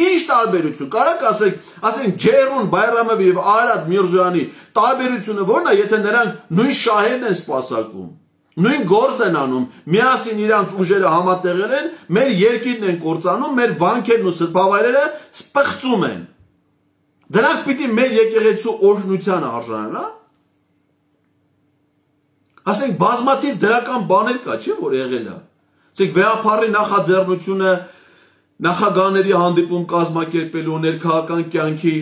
Ինչ տարբերություն, կարաք ասենք, ասենք Ջերուն Բայրամովի եւ Արարատ Միրզոյանի տարբերությունը ո՞րն է, եթե նրանք նույն շահերն են սպասարկում։ Նույն գործն են անում, միասին իրանց ուժերը համատեղել են, մեր երկիրն են կործանում, մեր վանքերն ու սրբավայրերը սպղծում են։ Դրանք պիտի մեր եկեղեցու օրհնությանը արժանանա։ Ասենք բազմաթիվ դրական բաներ կա, չէ՞ որ եղել է։ Ասենք վեհապարի նախաձեռնությունը նախագահների հանդիպում կազմակերպելու ներքաղաքական կյանքի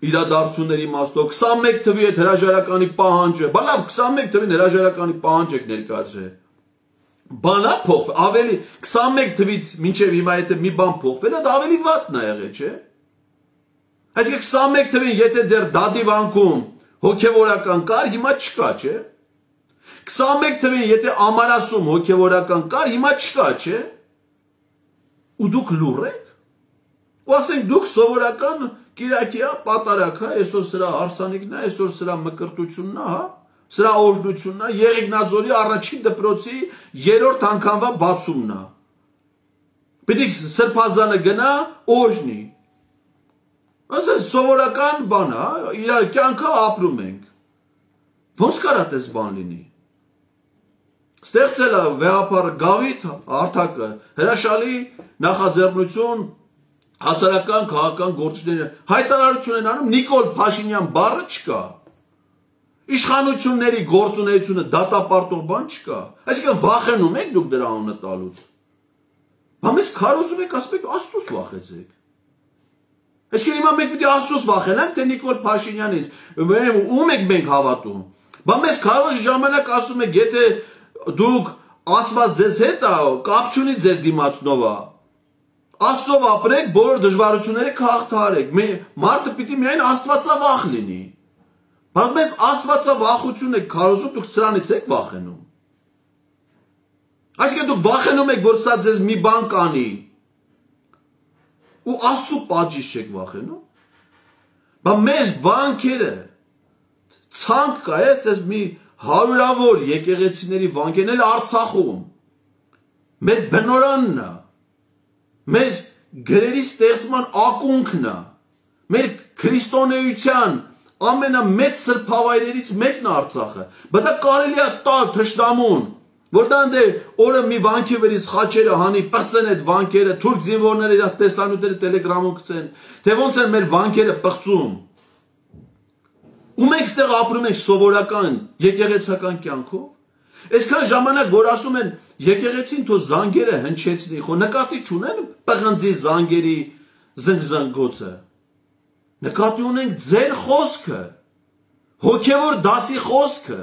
իրադարձությունների իմաստով քսանմեկ թվի այդ հրաժարականի պահանջը, բա լավ քսանմեկ թվին հրաժարականի պահանջ եք ներկայացրել։ Բանա փոխվել, ավելի քսանմեկ թվից մինչև հիմա եթե մի բան փոխվել է, դա ավելի վատն է եղել, չէ՞։ Այսինքն քսանմեկ թվին եթե դեռ դադի վանքում հոգևորական կար, հիմա չկա, չէ՞։ քսանմեկ թվին եթե ամարասում հոգևորական կար, հիմա չկա, չէ՞։ Ու դուք լուռ եք։ Ու ասենք դուք սովորական Կիրակի է, պատարակ է, այսօր սրա հարսանիքն է, այսօր սրա մկրտությունն է, հա, սրա օրհնությունն է, Եղեգնաձորի առաջին դպրոցի երրորդ անգամվա բացումն է։ Պիտի սրբազանը գնա, օրհնի։ Ասես սովորական բան է, իր կյանքը ապրում ենք։ Ոնց կարա տես բան լինի։ Ստեղծել է վեհապար Գավիթ Արտակը, հրաշալի նախաձեռնություն հասարական քաղաքական գործիչները հայտարարություն են անում, Նիկոլ Փաշինյան բառը չկա։ Իշխանությունների գործունեությունը դատապարտող բան չկա։ Այսինքն վախենում եք դուք դրա անունը տալուց։ Բա մեզ քարոզում եք, ասում եք Աստծուց վախեցեք։ Այսինքն հիմա մենք պիտի Աստծուց վախենանք, թե Նիկոլ Փաշինյանից, ում եք մենք հավատում։ Բա մեզ քարոզ ժամանակ ասում եք, եթե դուք Աստված ձեզ հետ է, կապ չունի ձեր դիմացնով է։ Աստծով ապրեք, բոլոր դժվարությունները կհաղթահարեք։ Մարդը պիտի միայն աստվածավախ լինի։ Բայց մեզ աստվածավախություն եք քարոզում, դուք սրանից եք վախենում։ Այսինքն դուք վախենում եք, որ սա ձեզ մի բան կանի։ Ու Աստծո պատժից չեք վախենում։ Բայց մեր վանքերը ցանկ կա, այս մի հարյուրավոր եկեղեցիների վանքերն էլ Արցախում։ Մեր բնորանն է։ Մեր գրերի ստեղծման ակունքն է, մեր քրիստոնեության ամենամեծ սրբավայրերից մեկն է Արցախը, բայց դա կարելի է տալ թշնամուն, որ դա ընդ օրը մի վանքի վրից խաչերը հանի, պղծեն այդ վանքերը, թուրք զինվորները իրաց տեսանյութերը տելեգրամում գցեն, թե ոնց են մեր վանքերը պղծում։ Ու մենք ստեղ ապրում ենք սովորական եկեղեցական կյանքով։ Այսքան ժամանակ, որ ասում են եկեղեցին թո զանգերը հնչեցնի, խո նկատի չունեն պղնձի զանգերի զնգզնգոցը։ Նկատի ունենք ձեր խոսքը, հոգևոր դասի խոսքը։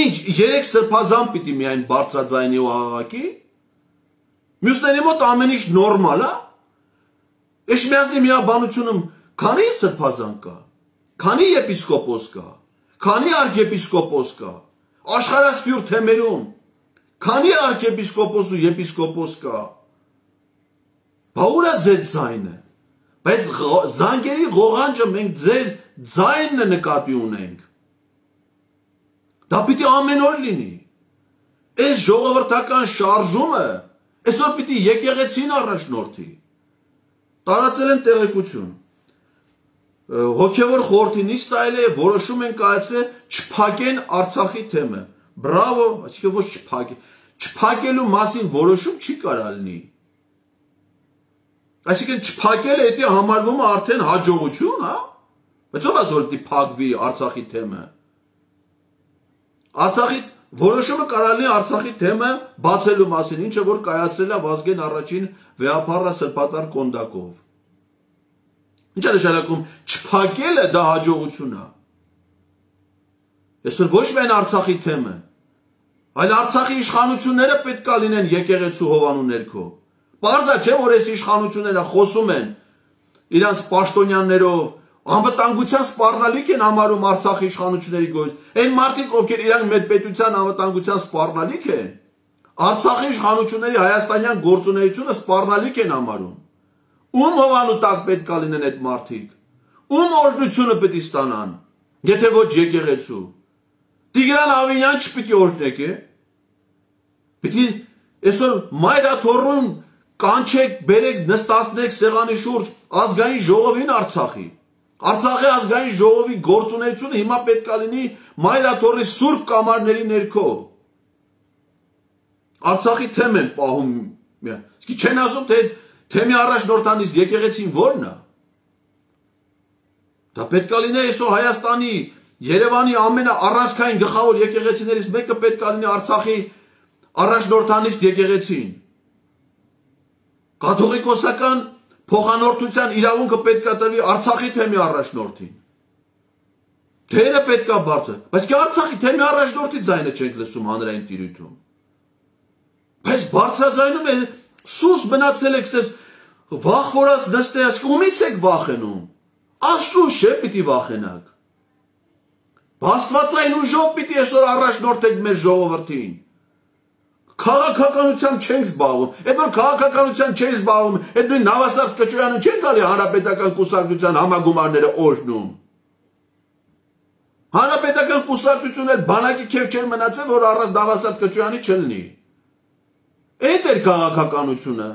Ինչ, երեք սրբազան պիտի միայն բարձրաձայնի ու աղաղակի։ Մյուսների մոտ ամեն ինչ նորմալ է։ Էշմիածնի միաբանությունում քանի սրբազան կա, քանի եպիսկոպոս կա, քանի արքեպիսկոպոս կա, աշխարհասփյուր թեմերում, քանի արքեպիսկոպոս ու եպիսկոպոս կա։ Բա ուր է ձեր ձայնը։ Բայց զանգերի ղողանջը մենք ձեր ձայնը նկատի ունենք։ Դա պիտի ամեն օր լինի։ Այս ժողովրդական շարժումը այսօր պիտի եկեղեցին առաջնորդի։ Տարածել են տեղեկություն։ Հոգևոր խորհրդի նիստ այլ է, որոշում են կայացրել չփակեն Արցախի թեմը։ Բրավո, այսինքն ոչ չփակել։ Չփակելու մասին որոշում չի կարա լինի։ Այսինքն չփակելը դա համարվում է արդեն հաջողություն, հա։ Բայց ով ասում է փակվի Արցախի թեմը։ Արցախի որոշումը կարա լինի Արցախի թեմը բացելու մասին, ինչը որ կայացրել է Վազգեն առաջին վեհապարը Սրբատար Կոնդակով։ Ինչ է նշանակում չփակելը դա հաջողություն է։ Այսօր ոչ միայն Արցախի թեմը, այլ Արցախի իշխանությունները պետք է լինեն եկեղեցու հովանու ներքո։ Պարզա չէ, որ այս իշխանությունները խոսում են իրանց պաշտոնյաներով, անվտանգության սպառնալիք են համարում Արցախի իշխանությունների գործ։ Այն մարդիկ, ովքեր իրանք մեր պետության անվտանգության սպառնալիք են, Արցախի իշխանությունների հայաստանյան գործունեությունը սպառնալիք են համարում։ Ում հովանու տակ պետք է լինեն այդ մարդիկ։ Ում օրհնությունը պետք է ստանան, եթե ոչ եկեղեցու։ Տիգրան Ավինյան չպիտի օրհնեք, է։ Պիտի այսօր մայրաթոռուն կանչեք, բերեք, նստացնեք սեղանի շուրջ ազգային ժողովին Արցախի։ Արցախի ազգային ժողովի գործունեությունը հիմա պետք է լինի մայրաթոռի սուրբ կամարների ներքո։ Արցախի թեմ են պահում, չեն ասում, թե թեմի առաջնորդանից եկեղեցին ո՞րն է։ Դա պետք է լինի այսօր Հայաստանի, Երևանի ամենաառանցքային գլխավոր եկեղեցիներից մեկը պետք է լինի Արցախի առաջնորդանից եկեղեցին։ Կաթողիկոսական փոխանորդության իրավունքը պետք է տրվի Արցախի թեմի առաջնորդին։ Թերը պետք է բարձր, բայց კი Արցախի թեմի առաջնորդի ձայնը չենք լսում հանրային տիրույթում։ Բայց բարձրաձայնում է սուս մնացել եք սես վախվորած նստած, ումից եք վախենում։ Աստծուց չէ պիտի վախենաք։ Աստվածային ուժով պիտի այսօր առաջնորդեք մեր ժողովրդին։ Քաղաքականությամբ չենք զբաղվում։ Այդ որ քաղաքականությամբ չենք զբաղվում, այդ նույն Նավասարդ Կճոյանը չեն գալի հանրապետական կուսակցության համագումարները օրհնում։ Հանրապետական կուսակցությունը բանակի քեֆ չեն մնացել, որ առանց Նավասարդ Կճոյանի չլինի։ Այդ էր քաղաքականությունը։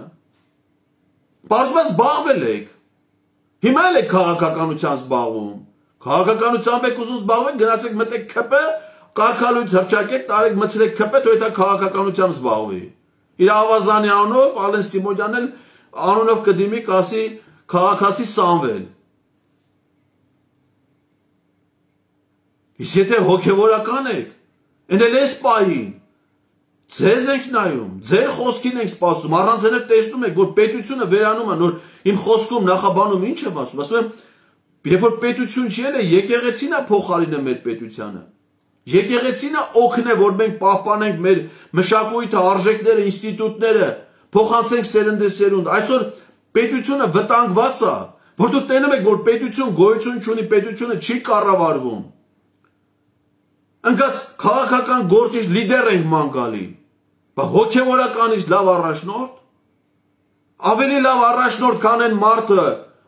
Պարզապես զբաղվել եք։ Հիմա էլ եք քաղաքականությամբ զբաղվում։ Քաղաքականությամբ եք ուզում զբաղվել, գնացեք մտեք ՔՊ, կարգալույց հրճակեք, տարեք մցրեք ՔՊ, թող դա քաղաքականությամբ զբաղվի։ Իր ավազանի անունով Ալեն Սիմոնյանն էլ անունով կդիմի կասի քաղաքացի Սամվել։ Իսկ եթե հոգևորական եք, ընել էս պահին, ձեզ ենք նայում, ձեր խոսքին ենք սպասում, առանց դրա տեսնում եք, որ պետությունը վերանում է, նոր իմ խոսքում նախաբանում ինչ եմ ասում, ասում եմ, երբ որ պետություն չի էլ է, եկեղեցին է փոխարինը մեր պետությանը։ Եկեղեցին է օգնե, որ մենք պահպանենք մեր մշակույթը, արժեքները, ինստիտուտները, փոխանցենք սերնդեսերունդ։ Այսօր պետությունը վտանգված է, որ դուք տենում եք, որ պետություն գոյություն չունի, պետությունը չի կառավարվում։ Ընկած քաղաքական գործիչ լիդեր ենք ման գալի, բայց հոգևորականից լավ առաջնորդ, ավելի լավ առաջնորդ քան են մարդը,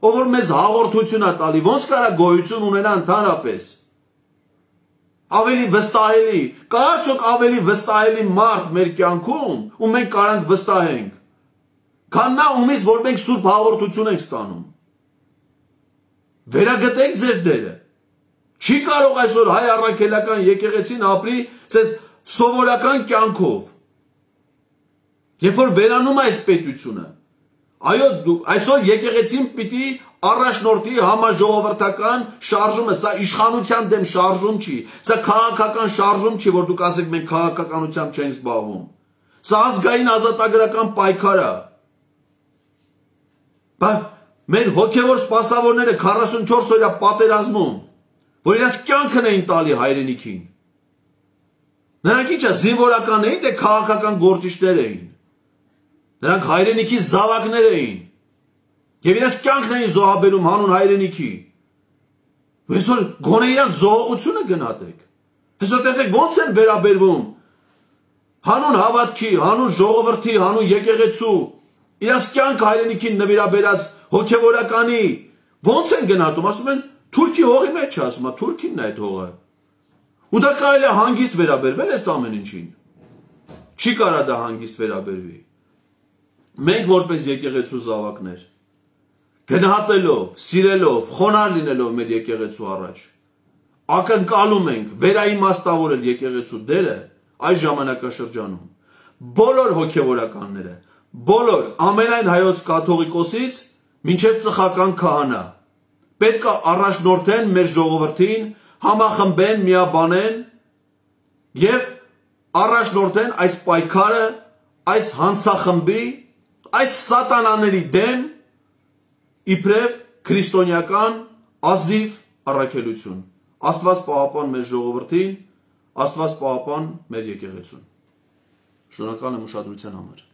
ով որ մեզ հաղորդություն է տալի, ոնց կարա գոյություն ունենա ընդհանրապես։ Ավելի վստահելի, կա արդյոք ավելի վստահելի մարդ մեր կյանքում, ու մենք կարանք վստահենք, քան նա ումից, որ մենք սուրբ հաղորդություն ենք ստանում։ Վերագտենք ձեր դերը։ Չի կարող այսօր հայ առաքելական եկեղեցին ապրի ցած սովորական կյանքով։ Երբ որ վերանում է այս պետությունը, այո, այսօր եկեղեցին պիտի առաջնորդի համաժողովրդական շարժումը, սա իշխանության դեմ շարժում չի, սա քաղաքական շարժում չի, որ դուք ասեք մենք քաղաքականությամբ չենք զբաղվում։ Սա ազգային ազատագրական պայքար է։ Բայց մեր հոգևոր սպասավորները քառասունչորս օրյա պատերազմում, որ իրենց կյանքն էին տալի հայրենիքին։ Նրանք ի՞նչ է, զինվորական էին, թե քաղաքական գործիչներ էին։ Նրանք հայրենիքի զավակներ էին։ Եվ իրենց կյանքն էին զոհաբերում հանուն հայրենիքի։ Այսօր գոնե իրենց զոհողությունը գնահատեք։ Այսօր տեսեք ոնց են վերաբերվում հանուն հավատքի, հանուն ժողովրդի, հանուն եկեղեցու, իրենց կյանք հայրենիքին նվիրաբերած հոգևորականի ոնց են գնահատում, ասում են Թուրքի հողի մեջ է, ասում է, Թուրքինն է այդ հողը։ Ու դա կարելի է հանգիստ վերաբերվել այս ամեն ինչին։ Չի կարա դա հանգիստ վերաբերվի։ Մենք որպես եկեղեցու զավակներ, գնահատելով, սիրելով, խոնարհ լինելով մեր եկեղեցու առաջ, ակնկալում ենք վերաիմաստավորել եկեղեցու դերը այս ժամանակաշրջանում։ Բոլոր հոգևորականները, բոլոր ամենայն հայոց կաթողիկոսից մինչև ծխական քահանա պետք է առաջնորդեն մեր ժողովրդին, համախմբեն, միաբանեն եւ առաջնորդեն այս պայքարը, այս հանցախմբի, այս սատանաների դեմ իբրև քրիստոնեական ազնիվ առաքելություն։ Աստված պահապան մեր ժողովրդին, Աստված պահապան մեր եկեղեցուն։ Շնորհակալ եմ ուշադրության համար։